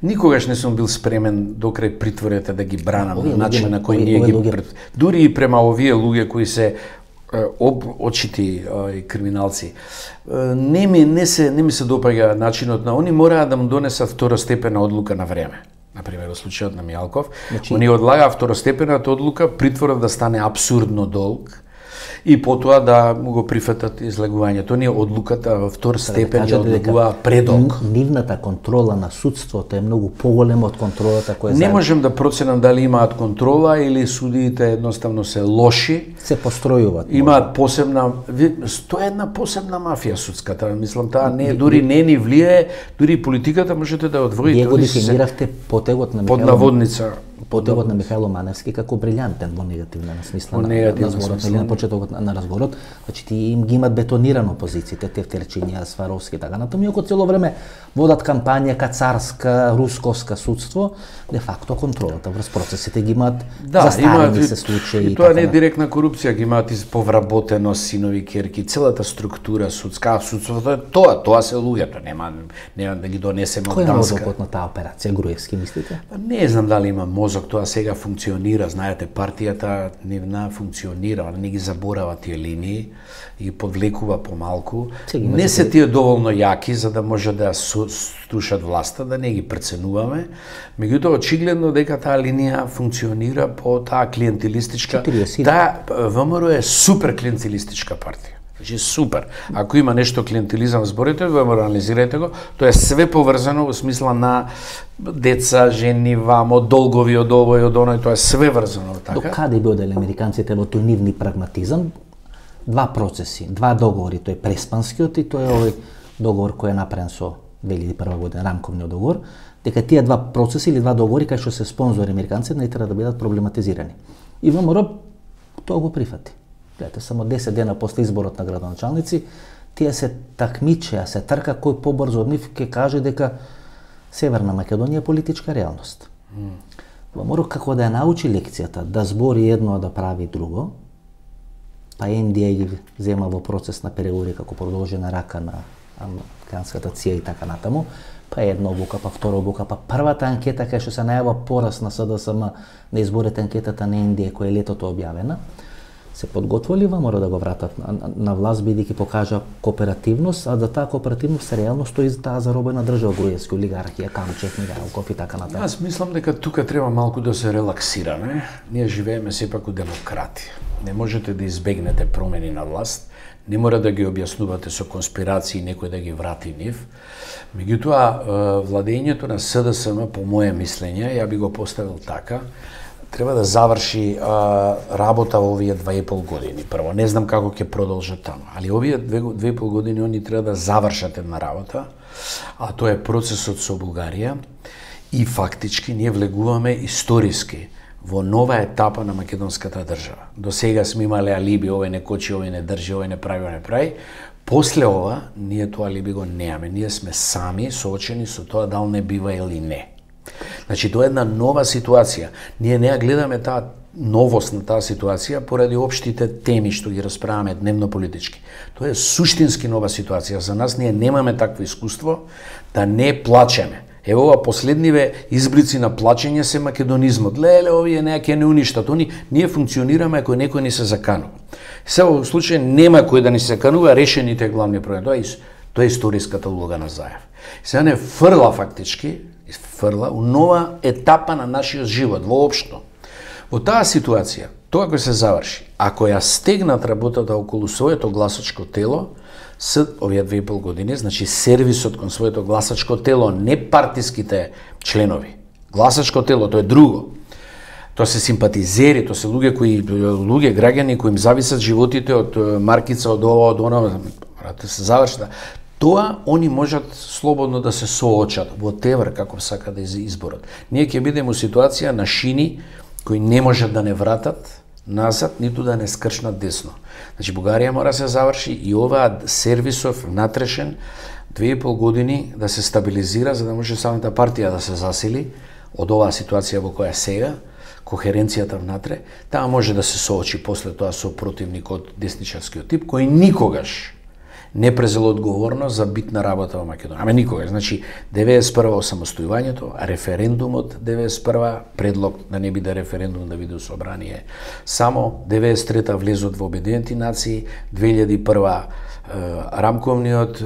никогаш не сум бил спремен до крај притворите да ги бранам на начин на кој ние ги дури и према овие луѓе кои се очити криминалци. Не ми се допаѓа начинот на они мораа да му донесат второстепена одлука на време. Например, во случајот на Мијалков, они одлагаа второстепената одлука, притворот да стане апсурдно долг и потоа да му го прифатат излегувањето. Ние одлуката во втор степен ја одлегува предолг. Нивната контрола на судството е многу поголема од контролата која не можем да проценам дали имаат контрола или судиите едноставно се лоши. Се постројуваат. Имаат посебна, тоа е една посебна мафија судската. Мислам, таа не дури не ни влијае, дури политиката можете да одвоите. Вие го дефиниравте потегот на под наводница. потегот на Михајло Маневски како брилјантен во негативна смисла на разговорот, на почетокот на разговорот, значи ти им ги имат бетонирано позициите, Тефтерчиња, Сваровски така натаму, иако цело време водат кампања ка царска, русковска судство, де факто контролата врз процесите ги имаат, застарени се случаи и тоа не е директна корупција, ги имаат повработено синови, керки, целата структура судска, судството е тоа се луѓето, нема да ги донесеме од Данска. Кој е мозокот на таа операција, Груевски, мислите? Не знам дали има мозок, тоа сега функционира, знаете, партијата нивна функционира, не ги заборава тие линии и подвлекува помалку. Не се тие доволно јаки за да може да слушат власта, да не ги преценуваме. Меѓутоа очигледно дека таа линија функционира по таа клиентелистичка. Таа ВМРО е супер клиентелистичка партија. Значи супер. Ако има нешто клиентелизам зборите, го анализирајте го, тоа е све поврзано во смисла на деца, жени, вамо, долгови од овој, од оној, тоа е све врзано така. До каде би одели американците во тој нивни прагматизам? Два процеси, два договори, тој преспанскиот и тој овој договор кој е направен со 2001 година, рамковниот договор, дека тие два процеси или два договори кај што се спонзори американците не треба да бидат проблематизирани. И ВМРО тоа го прифати. Гледате, само 10 дена после изборот на градоначалници, тие се такмичеа, се трка кој побрзо од нив ќе каже дека Северна Македонија е политичка реалност. ВМРО како да ја научи лекцијата, да збори едно, а да прави друго, па NDA ги зема во процес на преговори како продолжена рака на американската ЦИА и така натаму, па една обука, па втора обука, па првата анкета кај што се најава порас на СДСМ на изборите, анкетата на NDA која е летото објавена, се подготвили ВМРО да го вратат на власт бидејќи покажа кооперативност, а да таа кооперативност реално стои за таа заробена држава, Груевски, олигархија, Камчев, Мигајлков и така натаму. Аз мислам дека тука треба малку да се релаксираме. Ние живееме сепак у демократија. Не можете да избегнете промени на власт, не мора да ги објаснувате со конспирации некој да ги врати нив. Меѓутоа, владењето на СДСМ, по моje мислење, ја би го поставил така, треба да заврши работа во овие 2,5 години. Прво, не знам како ќе продолжат таму, али овие 2,5 години они треба да завршат една работа, а тоа е процесот со Бугарија и фактички ние влегуваме историски во нова етапа на македонската држава. До сега сме имале алиби, овој не кочи, овој не држи, овој не прави, овој не прави. После ова, ние тоа алиби го немаме. Ние сме сами соочени со тоа дали не бива или не. Значи, тоа е една нова ситуација. Ние не ја гледаме таа новост на таа ситуација поради општите теми што ги расправаме дневно политички. Тоа е суштински нова ситуација. За нас ние немаме такво искуство да не плачеме. Ево ова последниве изблици на плачење се македонизмот. Леле, овие ќе не уништат. Ние функционираме ако некој ни се заканува. Сега во случај нема кој да ни се заканува, решените главни проблеми. Тоа е историската улога на Заев. Сега не фрла фактички, у нова етапа на нашиот живот, воопшто. Во таа ситуација, тоа кој се заврши, ако ја стегнат работата околу своето гласачко тело, овие 2,5 години, значи сервисот кон своето гласачко тело, не партиските членови. Гласачко тело, тоа е друго. Тоа се симпатизери, тоа се луѓе, граѓани кои им зависат животите од маркица, од ова, од оно, се заврши. Тоа они можат слободно да се соочат во тевр како сака да изборот. Ние ќе бидеме во ситуација на шини кои не можат да не вратат назад, ниту да не скршнат десно. Значи Бугарија мора да се заврши и оваа сервисов натрешен 2,5 години да се стабилизира за да може самата партија да се засили од оваа ситуација во која сега, кохеренцијата внатре, таа може да се соочи после тоа со противник од десничарскиот тип кој никогаш не презел одговорност за битна работа во Македонија. Аме никога. Значи, 91 осамостојувањето, референдумот 91 предлог да не биде референдум, да биде собрание. Само 93-та влезот во Обединети нации, 2001 рамковниот,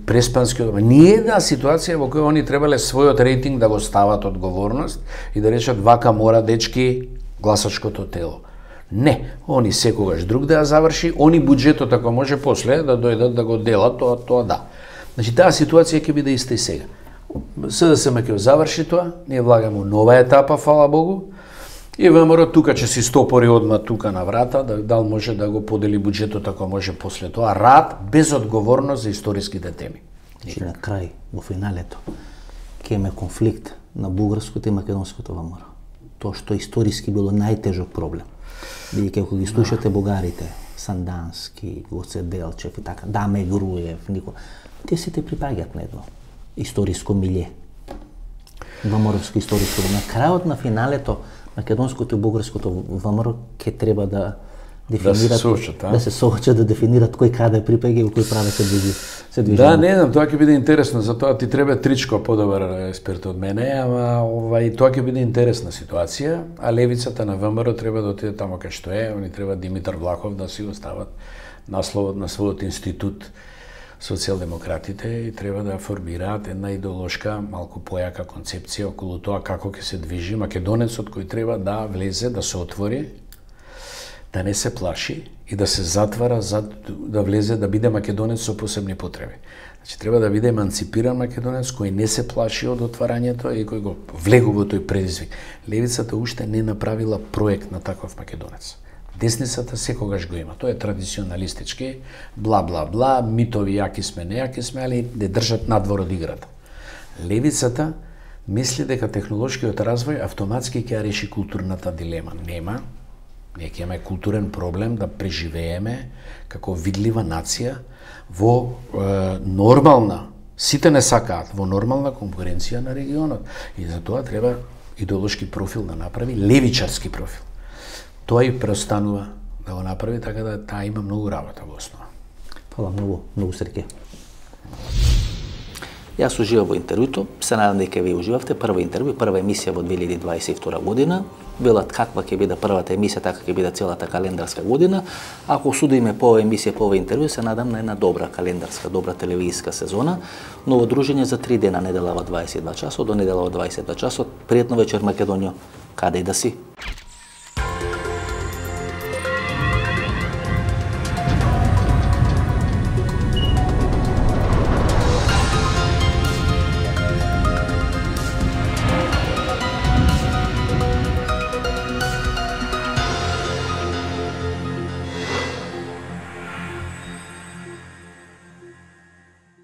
преспанскиот. Не една ситуација во која они требале својот рейтинг да го стават одговорност и да речат вака мора дечки гласачкото тело. Не, они секогаш друг да ја заврши, они буџетот ако може после да дојдат да го делат, тоа да. Значи таа ситуација ќе биде иста и сега. СДСМ ќе заврши тоа, ние влагаме у нова етапа, фала Богу, и ВМРО тука ќе си стопори одма тука на врата, дал може да го подели буџетот ако може после тоа, рад без одговорност за историските теми. Значи на крај, во финалето, ќе има конфликт на бугарското и македонското ВМРО. тоа што историски било најтежок проблем. Бидејќи ако ги слушате бугарите, Сандански, Гоце Делчев и така, Даме Груев, тие сите припаѓаат на едно историско милје. ВМРО-ско историско милје. На крајот на финалето, македонското и бугарското ВМРО ќе треба да дефинират, да се соочат, да дефинират кој каде припаѓа и кој праве се движи. Да, не знам, тоа ќе биде интересно, затоа ти треба тричко подобар експерт од мене, ама тоа ќе биде интересна ситуација, а левицата на ВМРО треба да отиде тамо кај што е, они треба Димитар Влахов да си остават насловот на својот институт социјалдемократите и треба да формираат една идеолошка, малку појака концепција околу тоа како ќе се движи македонецот кој треба да влезе, да се отвори, да не се плаши и да се затвара за да влезе да биде македонец со посебни потреби. Значи треба да биде еманципиран македонец кој не се плаши од отварањето и кој го влегува тој предизвик. Левицата уште не направила проект на таков македонец. Десницата секогаш го има. Тоа е традиционалистички, бла бла бла, митови јаки сме, нејаки сме, али не држат надвор од играта. Левицата мисли дека технолошкиот развој автоматски ќе реши културната дилема. Нема. Ние ќе имаме културен проблем да преживееме како видлива нација во нормална, сите не сакаат, во нормална конкуренција на регионот. И за тоа треба идеолошки профил да направи, левичарски профил. Тоа и преостанува да го направи, така да таа има многу работа во основа. Фала многу среќа. Јас уживав во интервјуто, се надам дека вие уживавте. Прва интервју, прва емисија во 2022 година. Велат каква ќе биде првата емисија, така ќе биде целата календарска година. Ако судиме по оваа емисија, по оваа интервју, се надам на една добра календарска, добра телевизиска сезона. Ново дружење за 3 дена, недела во 22 часот, до недела во 22 часот. Пријатно вечер, Македонијо, каде и да си.